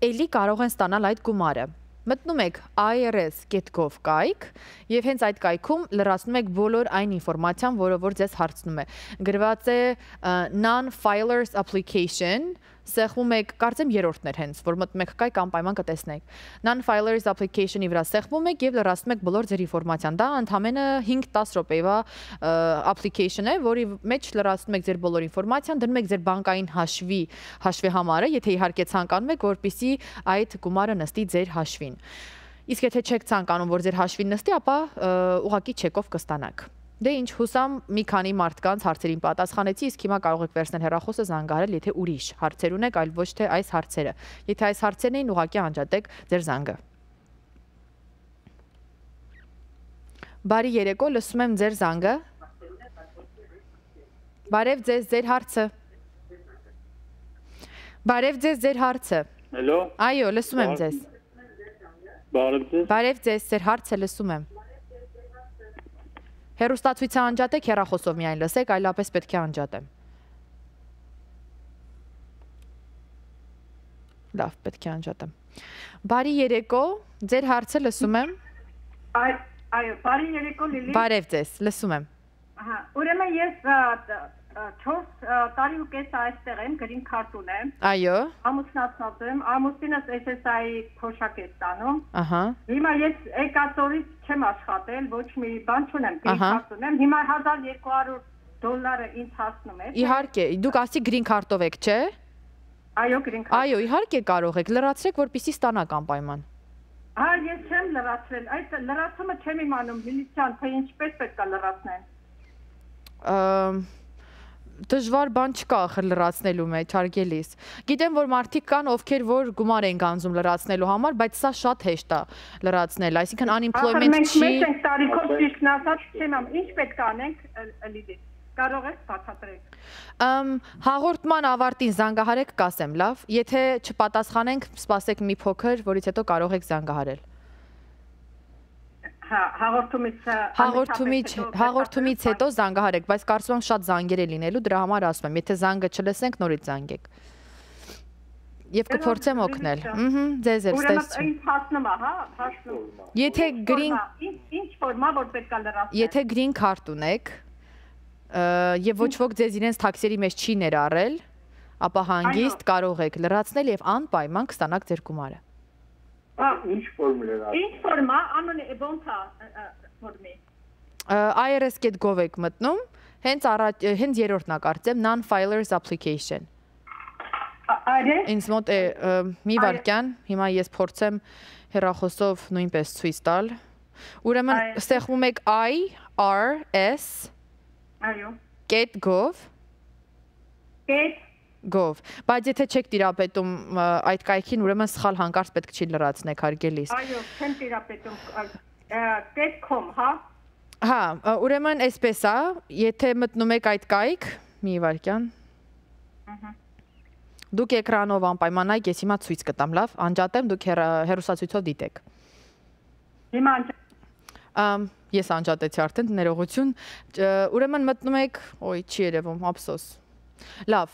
էլի կարող են ստանալ այդ գումարը։ Մտնում եք I R S dot gov կայք եւ հենց այդ կայքում լրացնում եք բոլոր այն ինֆորմացիան, որը որ ձեզ հարցնում է։ Գրված է non-filers application, սեղմում եք, կարծեմ երրորդն էր հենց, որ մտնում եք կայք անպայման կտեսնեք։ Non-filers application-ի վրա սեղմում եք եւ լրացնում եք բոլոր ձեր ինֆորմացիան։ Դա ընդամենը հինգ դես րոպեվա application է, որի մեջ լրացնում եք ձեր բոլոր ինֆորմացիան, դնում եք ձեր բանկային հաշվի հաշվի համարը, եթե իհարկե ցանկանում եք, որպեսզի այդ գումարը նստի ձեր հաշվին։ Իսկ եթե չեք ցանկանում, որ ձեր հաշվին նստի, ապա ուղղակի չեկով կստանաք։ Դե ինչ, հուսամ մի քանի մարդկանց հարցերին պատասխանեցի, իսկ հիմա կարող եք վերցնել հեռախոսը զանգահարել, եթե ուրիշ հարցեր ունեք, այլ ոչ թե այս հարցերը։ Եթե այս հարցերն էին, ուղղակի անջատեք ձեր զանգը։ Բարի երեկո, լսում եմ ձեր զանգը։ Բարև ձեզ, ձեր հարցը։ Բարև ձեզ, ձեր հարցը։ Հելո։ Այո, լսում եմ ձեզ։ Բարև ձեզ։ Բարև ձեզ, ձեր հարցը լսում եմ։ Հեռուստացույցը անջատեք, հեռախոսով միայն լսեք, այլապես պետք է անջատեմ։ Լավ, պետք է անջատեմ։ Բարի երեկո, ձեր հարցը լսում եմ։ Այո, բարի երեկո Լիլի։ Բարև ձեզ, լսում եմ։ Ահա, ուրեմն ես չորս տարի ու կես այստեղ եմ, գրին քարտ ունեմ։ Այո։ Ամուսնացած եմ, ամուսինս S S I-ի փոշակ է ստանում։ Ահա։ Հիմա ես եկածորից չեմ աշխատել, ոչ մի բան չունեմ, գրին քարտ ունեմ։ Հիմա հազար երկու հարյուր դոլարը ինձ հասնում է։ Իհարկե, դուք ասի գրին քարտով եք, չէ։ Այո, գրին քարտ։ Այո, իհարկե կարող եք, լրացրեք, որպեսզի ստանաք անպայման։ Հա, ես չեմ լրացրել, այդ լրացումը չեմ իմանում, Լիլիթյան, թե ինչպես պետք է լրացնեն։ Դժվար բան չկա ախր լրացնելու մեջ, հարգելիս։ Գիտեմ, որ մարդիկ կան, ովքեր որ գումար են գանձում լրացնելու համար, բայց սա շատ հեշտ է լրացնել, այսինքն unemployment չի։ Մենք մենք տարիքով ճիշտ ասած չեմ ամ, ինչ պետք է անենք, Լիլի։ Կարող եք բացատրեք։ Հաղորդման ավարտին զանգահարեք, կասեմ, լավ։ Եթե չպատասխանենք, սպասեք մի փոքր, որից հետո կարող եք զանգահարել։ Հաղորդումից հաղորդումից հետո զանգահարեք, բայց կարծում եմ շատ զանգեր է լինելու, դրա համար ասում եմ, եթե զանգը չլսենք, նորից զանգեք։ Եվ կփորձեմ օգնել։ Ըհը, ձեզ էլ ստեսություն։ Ուրեմն ինձ հասնում է, հա, հասնում։ Եթե գրին ինչ ֆորմա որ պետք է լրացնել։ Եթե գրին քարտ ունեք, եւ ոչ ոք ձեզ իրենց թաքսերի մեջ չի ներառել, ապա հանգիստ կարող եք լրացնել եւ անպայման կստանաք ձեր գումարը։ Ինչ ֆորմուլա։ Ինչ ֆորմա, անոնի ոնց է ֆորմի։ I R S dot gov եք մտնում, հենց առաջ հենց երրորդն է կարծեմ non-filers application։ Այո։ Ինձ մոտ է մի վարքյան, հիմա ես փորձեմ հեռախոսով նույնպես ցույց տալ։ Ուրեմն ստեղծում եք I R S Այո։ dot gov Get Gov, բայց եթե չեք տիրապետում այդ կայքին, ուրեմն սխալ հանկարծ պետք չի լրացնեք, հարգելիս։ Այո, չեմ տիրապետում, .com, հա։ Հա, ուրեմն այսպես է, եթե մտնում եք այդ կայք, մի վարքյան։ Դուք էկրանով անպայմանայք, ես հիմա ցույց կտամ, լավ, անջատեմ, դուք հեռուստացույցով դիտեք։ Հիմա Ես անջատեցի արդեն, ներողություն, ուրեմն մտնում եք, ոյ, չի երևում, ափսոս։ Լավ,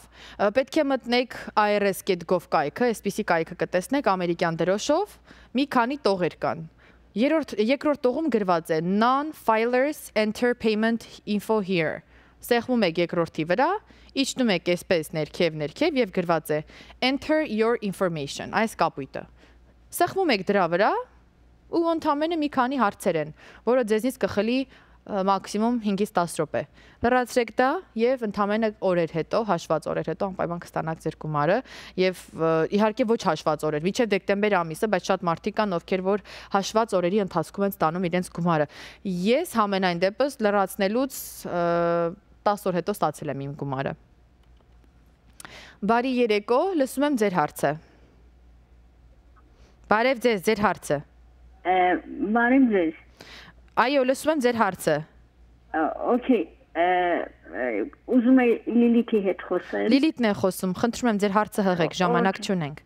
պետք է մտնեք I R S dot gov կայքը, այսպիսի կայքը կտեսնեք ամերիկյան դրոշով, մի քանի տողեր կան։ Երկրորդ տողում գրված է Non-filers enter payment info here։ Սեղմում եք երկրորդի վրա, իջնում եք այսպես ներքև ներքև եւ գրված է Enter your information, այս կապույտը։ Սեղմում եք դրա վրա ու ընդամենը մի քանի հարցեր են, որը ձեզնից կխլի մաքսիմում հինգից տասը րոպե։ Լրացրեք դա եւ ընդամենը օրեր հետո, հաշված օրեր հետո անպայման կստանաք ձեր գումարը եւ իհարկե ոչ հաշված օրեր, մինչեւ դեկտեմբեր ամիսը, բայց շատ մարդիկ կան, ովքեր որ հաշված օրերի ընթացքում են ստանում իրենց գումարը։ Ես համենայն դեպս լրացնելուց տասը օր հետո ստացել եմ իմ գումարը։ Բարի երեկո, լսում եմ ձեր հարցը։ Բարև ձեզ, ձեր հարցը։ Բարև ձեզ։ Այո, լսում եմ ձեր հարցը։ Okay, ուզում եմ Լիլիթի հետ խոսել։ Լիլիթն է խոսում, խնդրում եմ ձեր հարցը հղեք, ժամանակ չունենք։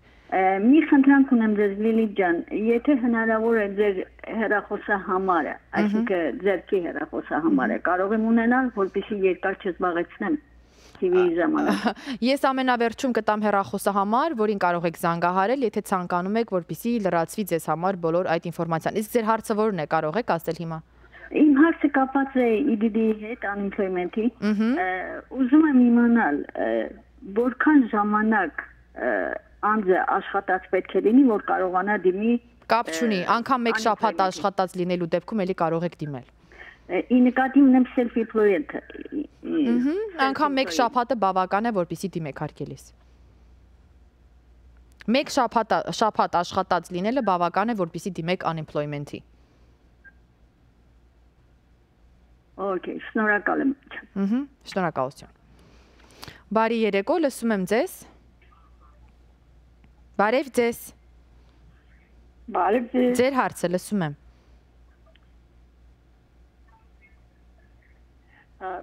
Մի խնդրանք ունեմ ձեզ Լիլիթ ջան, եթե հնարավոր է ձեր հեռախոսահամարը, այսինքն ձերքի հեռախոսահամարը, կարող եմ ունենալ, որպեսզի երկար չզբաղեցնեմ թիվի ժամանակ։ Ես ամենավերջում կտամ հեռախոսահամար, որին կարող եք զանգահարել, եթե ցանկանում եք, որպեսզի լրացվի ձեզ համար բոլոր այդ ինֆորմացիան։ Իսկ ձեր հարցը ո՞րն է, կարող եք ասել հիմա։ Իմ հարցը կապված է E D D-ի հետ, unemployment-ի։ Ուզում եմ իմանալ, որքան ժամանակ անձը աշխատած պետք է լինի, որ կարողանա դիմի։ Կապ չունի, անգամ մեկ շաբաթ աշխատած լինելու դեպքում էլի կարող եք դիմել։ Ի նկատի ունեմ self-employed։ Անգամ մեկ շաբաթը բավական է, որպեսզի դիմեք հարկելիս։ Մեկ շաբաթ աշխատած լինելը բավական է, որպեսզի դիմեք unemployment-ի։ Okay, շնորհակալ եմ։ Ահա, շնորհակալություն։ Բարի երեկո, լսում եմ ձեզ։ Բարև ձեզ։ Բարև ձեզ։ Ձեր հարցը լսում եմ։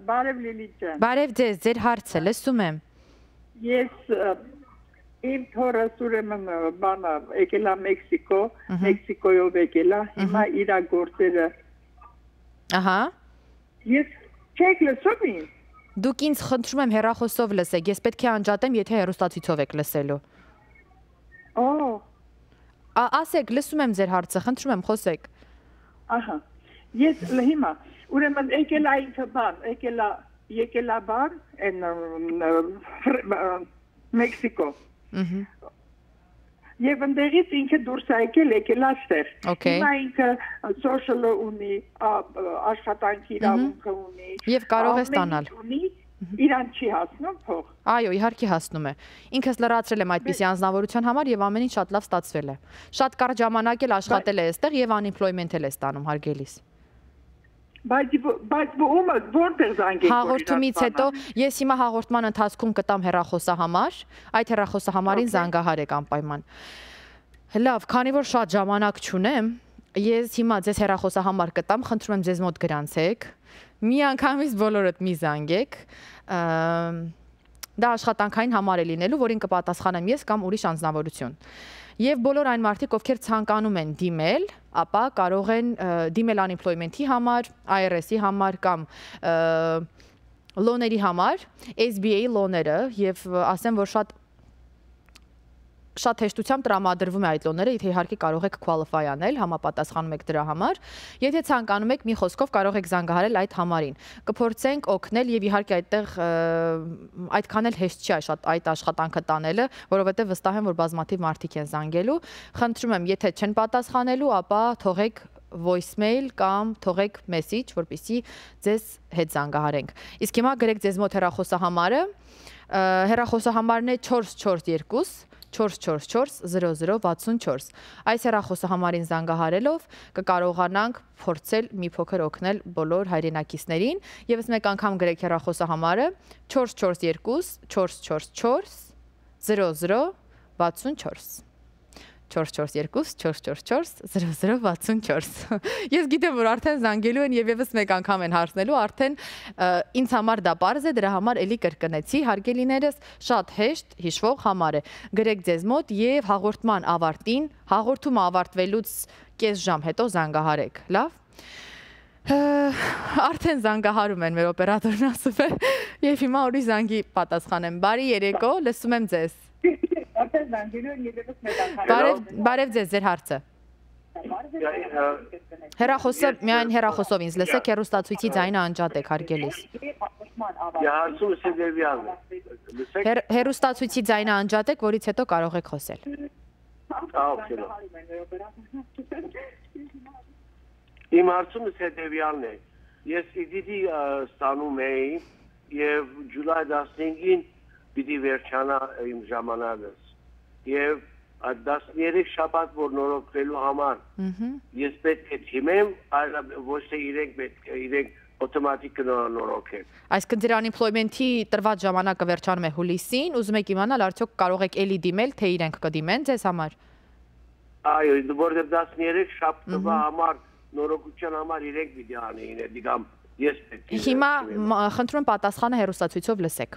Բարև Լիլիթ ջան։ Բարև ձեզ, ձեր հարցը լսում եմ։ Ես իմ թորս ուրեմն բանա եկել է Մեքսիկո, Մեքսիկոյով եկել է, հիմա իր գործերը։ Ահա։ Ես չեք լսում ինձ։ Դուք ինձ խնդրում եմ հեռախոսով լսեք, ես պետք է անջատեմ, եթե հեռուստացույցով եք լսելու։ Օ։ Ասեք, լսում եմ ձեր հարցը, խնդրում եմ խոսեք։ Ահա։ Ես հիմա ուրեմն եկել է ինքը բան, եկել է եկել է բան են Մեքսիկո։ Ահա։ Եվ ընդեղից ինքը դուրս է եկել, եկել է ստեղ։ Հիմա ինքը social ունի, աշխատանքի իրավունքը ունի։ Եվ կարող է ստանալ։ Իրան չի հասնում փող։ Այո, իհարկե հասնում է։ Ինքս լրացրել եմ այդպիսի անձնավորության համար եւ ամեն ինչ շատ լավ ստացվել է։ Շատ կարճ ժամանակ էլ աշխատել է այստեղ եւ unemployment էլ է ստանում հարգելիս։ Բայց բայց ո՞ւմ որտեղ զանգեք։ Հաղորդումից հետո ես հիմա հաղորդման ընթացքում կտամ հեռախոսահամար, այդ հեռախոսահամարին զանգահարեք անպայման։ Լավ, քանի որ շատ ժամանակ չունեմ, ես հիմա ձեզ հեռախոսահամար կտամ, խնդրում եմ ձեզ մոտ գրանցեք։ Մի անգամից բոլորդ մի զանգեք։ Դա աշխատանքային համար է լինելու, որին կպատասխանեմ ես կամ ուրիշ անձնավորություն։ Եվ բոլոր այն մարդիկ, ովքեր ցանկանում են դիմել, ապա կարող են դիմել unemployment-ի համար, I R S-ի համար կամ լոների համար, S B A լոները, եւ ասեմ, որ շատ շատ հեշտությամբ տրամադրվում է այդ լոները, եթե իհարկե կարող եք qualify անել, համապատասխանում եք դրա համար։ Եթե ցանկանում եք, մի խոսքով կարող եք զանգահարել այդ համարին։ Կփորձենք օգնել եւ իհարկե այդտեղ այդքան էլ հեշտ չի շատ այդ աշխատանքը տանելը, որովհետեւ վստահ եմ, որ բազմաթիվ մարդիկ են զանգելու։ Խնդրում եմ, եթե չեն պատասխանելու, ապա թողեք voicemail կամ թողեք message, որպեսզի ձեզ հետ զանգահարենք։ Իսկ հիմա գրեք ձեզ մոտ հեռախոսահամարը։ Հեռախոսահամարն է չորս չորս երկու չորս չորս չորս զրո զրո վաթսուն չորս։ Այս հեռախոսահամարին զանգահարելով կկարողանանք փորձել մի փոքր օգնել բոլոր հայրենակիցներին։ Եվս մեկ անգամ գրեք հեռախոսահամարը չորս չորս երկու չորս չորս չորս զրո զրո վաթսուն չորս։ չորս չորս երկու չորս չորս չորս զրո զրո վաթսուն չորս։ Ես գիտեմ, որ արդեն զանգելու են եւ եւս մեկ անգամ են հարցնելու, արդեն ինձ համար դա պարզ է, դրա համար էլի կրկնեցի, հարգելիներս, շատ հեշտ հիշվող համար է։ Գրեք ձեզ մոտ եւ հաղորդման ավարտին, հաղորդումը ավարտվելուց կես ժամ հետո զանգահարեք, լավ։ Արդեն զանգահարում են մեր օպերատորն ասում է, եւ հիմա ուրիշ զանգի պատասխանեմ։ Բարի երեկո, լսում եմ ձեզ։ Արդեն զանգերով երևս մեկ Բարև ձեզ, ձեր հարցը։ Հեռախոսը, միայն հեռախոսով ինձ լսեք, հեռուստացույցի ձայնը անջատեք, հարգելիս։ Հեռուստացույցի ձայնը անջատեք, որից հետո կարող եք խոսել։ Իմ հարցումս հետևյալն է։ Ես իդիդի ստանում էի եւ ջուլայ տասնհինգին պիտի վերջանա իմ ժամանակս։ Եվ այդ տասներեք շաբաթ որ նորոգվելու համար ես պետք է թիմեմ, այլ ոչ թե իրենք պետք է իրենք օտոմատիկ նորոգեն։ Այսինքն ձեր unemployment-ի տրված ժամանակը վերջանում է հուլիսին, ուզում եք իմանալ արդյոք կարող եք էլի դիմել, թե իրենք կդիմեն ձեզ համար։ Այո, որտեղ տասներեք շաբաթվա համար նորոգության համար իրենք պիտի անեին, դիգամ ես պետք է։ Հիմա խնդրում եմ պատասխանը հեռուստացույցով լսեք։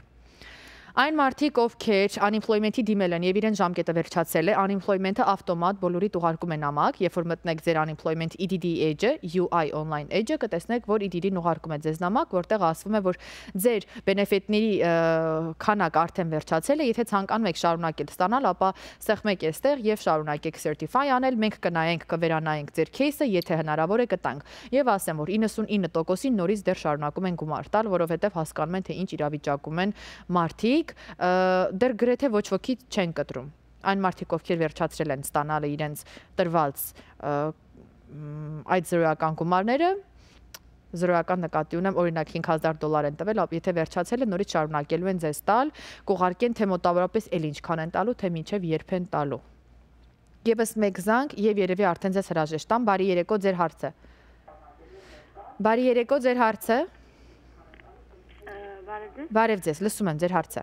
Այն մարդիկ, ովքեր unemployment-ի դիմել են եւ իրեն ժամկետը վերջացել է, unemployment-ը ավտոմատ բոլորիդ ուղարկում է նամակ, երբ որ մտնեք ձեր unemployment E D D edge-ը, U I online edge-ը, կտեսնեք, որ E D D-ն ուղարկում է ձեզ նամակ, որտեղ ասվում է, որ ձեր բենեֆիտների քանակը արդեն վերջացել է, եթե ցանկանում եք շարունակել ստանալ, ապա սեղմեք այստեղ եւ շարունակեք certify անել, մենք կնայենք, կվերանայենք ձեր case-ը, եթե հնարավոր է կտանք։ Եվ ասեմ, որ իննսունինը տոկոսին նորից դեռ շարունակում են գումար տալ, որովհետեւ հասկանում են, թե ինչ իրավիճակում են մարդիկ, դեռ գրեթե ոչ ոքի չեն կտրում։ Այն մարդիկ, ովքեր վերջացրել են ստանալը իրենց տրված այդ զրոյական գումարները, զրոյական նկատի ունեմ, օրինակ հինգ հազար դոլար են տվել, եթե վերջացել է, նորից շարունակելու են ձեզ տալ, կուղարկեն, թե մոտավորապես էլ ինչքան են տալու, թե մինչև երբ են տալու։ Եվս մեկ զանգ եւ երևի արդեն ձեզ հրաժեշտ տամ, բարի երեկո, ձեր հարցը։ Բարի երեկո, ձեր հարցը։ Բարև ձեզ, լսում եմ ձեր հարցը։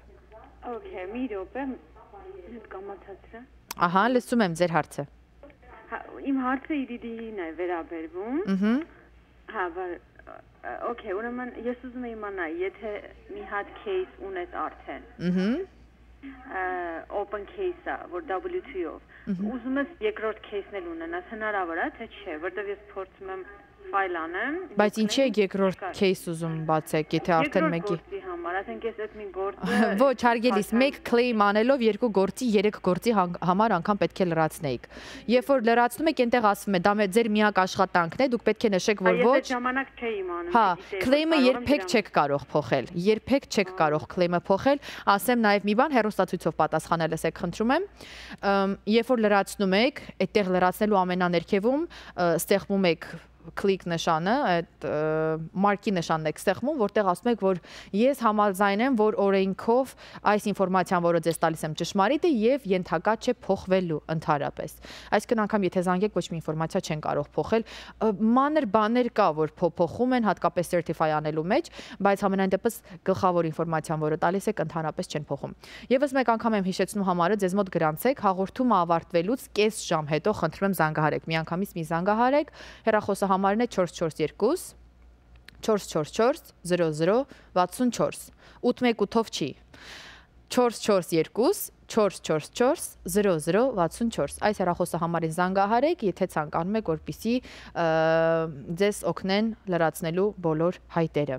Okay, մի րոպե, հետ կամացացրա։ Ահա, լսում եմ ձեր հարցը։ Իմ հարցը E D D-ին է վերաբերվում։ Ըհը։ Հա, բար, okay, ուրեմն ես ուզում եմ իմանալ, եթե մի հատ case ունես արդեն։ Ըհը։ Open case-ը, որ W two-ով։ Ուզում ես երկրորդ case-ն էլ ունենաս, հնարավոր է, թե չէ, որտեղ ես փորձում եմ ֆայլ անեմ։ Բայց ինչի եք երկրորդ case ուզում բացեք, եթե արդեն մեկի։ Երկրորդ գործի համար, ասենք ես այդ մի գործը։ Ոչ, հարգելիս, մեկ claim անելով երկու գործի, երեք գործի համար անգամ պետք է լրացնեիք։ Երբ որ լրացնում եք, այնտեղ ասվում է, դա ձեր միակ աշխատանքն է, դուք պետք է նշեք, որ ոչ։ Ես այդ ժամանակ չէի իմանում։ Հա, claim-ը երբեք չեք կարող փոխել։ Երբեք չեք կարող claim-ը փոխել։ Ասեմ նաև մի բան, հեռուստացույցով պատասխանել եք, խնդրում եմ։ Երբ որ լրացնում եք, այդտեղ լրացնելու ամենաներքևում ստեղծում եք click նշանը, այդ մարկի նշանն եք ստեղծում, որտեղ ասում եք, որ ես համաձայն եմ, որ օրենքով այս ինֆորմացիան, որը ձեզ տալիս եմ, ճշմարիտ է եւ ենթակա չէ փոխվելու ընդհանրապես։ Այսինքն անգամ եթե զանգեք, ոչ մի ինֆորմացիա չեն կարող փոխել։ Մանր բաներ կա, որ փոխում են, հատկապես certify անելու մեջ, բայց համենայն դեպս գլխավոր ինֆորմացիան, որը տալիս եք, ընդհանրապես չեն փոխում։ Եվս մեկ անգամ եմ հիշեցնում համարը, ձեզ մոտ գրանցեք, հաղորդումը ավարտվելուց կես ժամ հետո խնդրում եմ զանգահարեք։ Միանգամից մի զանգահարեք, հեռախոսը համարն է չորս չորս երկու չորս չորս չորս զրո զրո վաթսուն չորս ութ մեկ ութով չի չորս չորս երկու չորս չորս չորս զրո զրո վաթսուն չորս այս հեռախոսը համարին զանգահարեք, եթե ցանկանում եք, որպեսզի ձեզ օգնեն լրացնելու բոլոր հայտերը։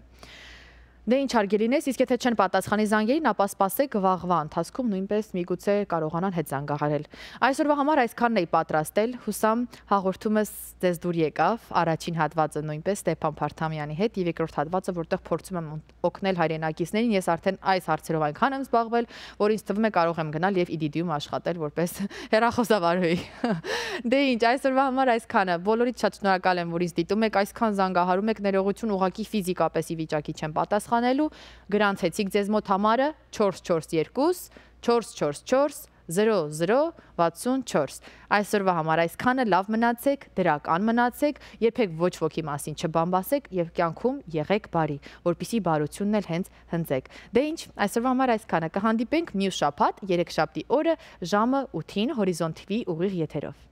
Դե ինչ հարգելինես, իսկ եթե չեն պատասխանի զանգերին, ապա սպասեք վաղվա ընթացքում նույնպես միգուցե կարողանան հետ զանգահարել։ Այսօրվա համար այսքանն էի պատրաստել, հուսամ հաղորդումս ձեզ դուր եկավ, առաջին հատվածը նույնպես Ստեփան Փարթամյանի հետ եւ երկրորդ հատվածը, որտեղ փորձում եմ օգնել հայրենակիցներին, ես արդեն այս հարցերով այնքան եմ զբաղվել, որ ինձ թվում է կարող եմ գնալ եւ E D D-ում աշխատել որպես հեռախոսավարուհի։ Դե ինչ, այսօրվա համար այսքանը, բոլորիդ շատ շնորհակալ եմ, որ ինձ դիտում եք, այսքան զանգահարում եք, ներողություն, ուղղակի ֆիզիկապես ի վիճակի չեմ պատասխանել գրանցեցիք ձեզ մոտ համարը չորս չորս երկու չորս չորս չորս զրո զրո վաթսուն չորս այսօրվա համար այսքանը, լավ մնացեք, դրական մնացեք, երբեք ոչ ոքի մասին չբամբասեք եւ կյանքում եղեք բարի, որպեսզի բարությունն էլ հենց հնձեք։ Դե ինչ, այսօրվա համար այսքանը, կհանդիպենք մյուս շաբաթ երեքշաբթի օրը ժամը ութին Հորիզոն T V ուղիղ եթերով։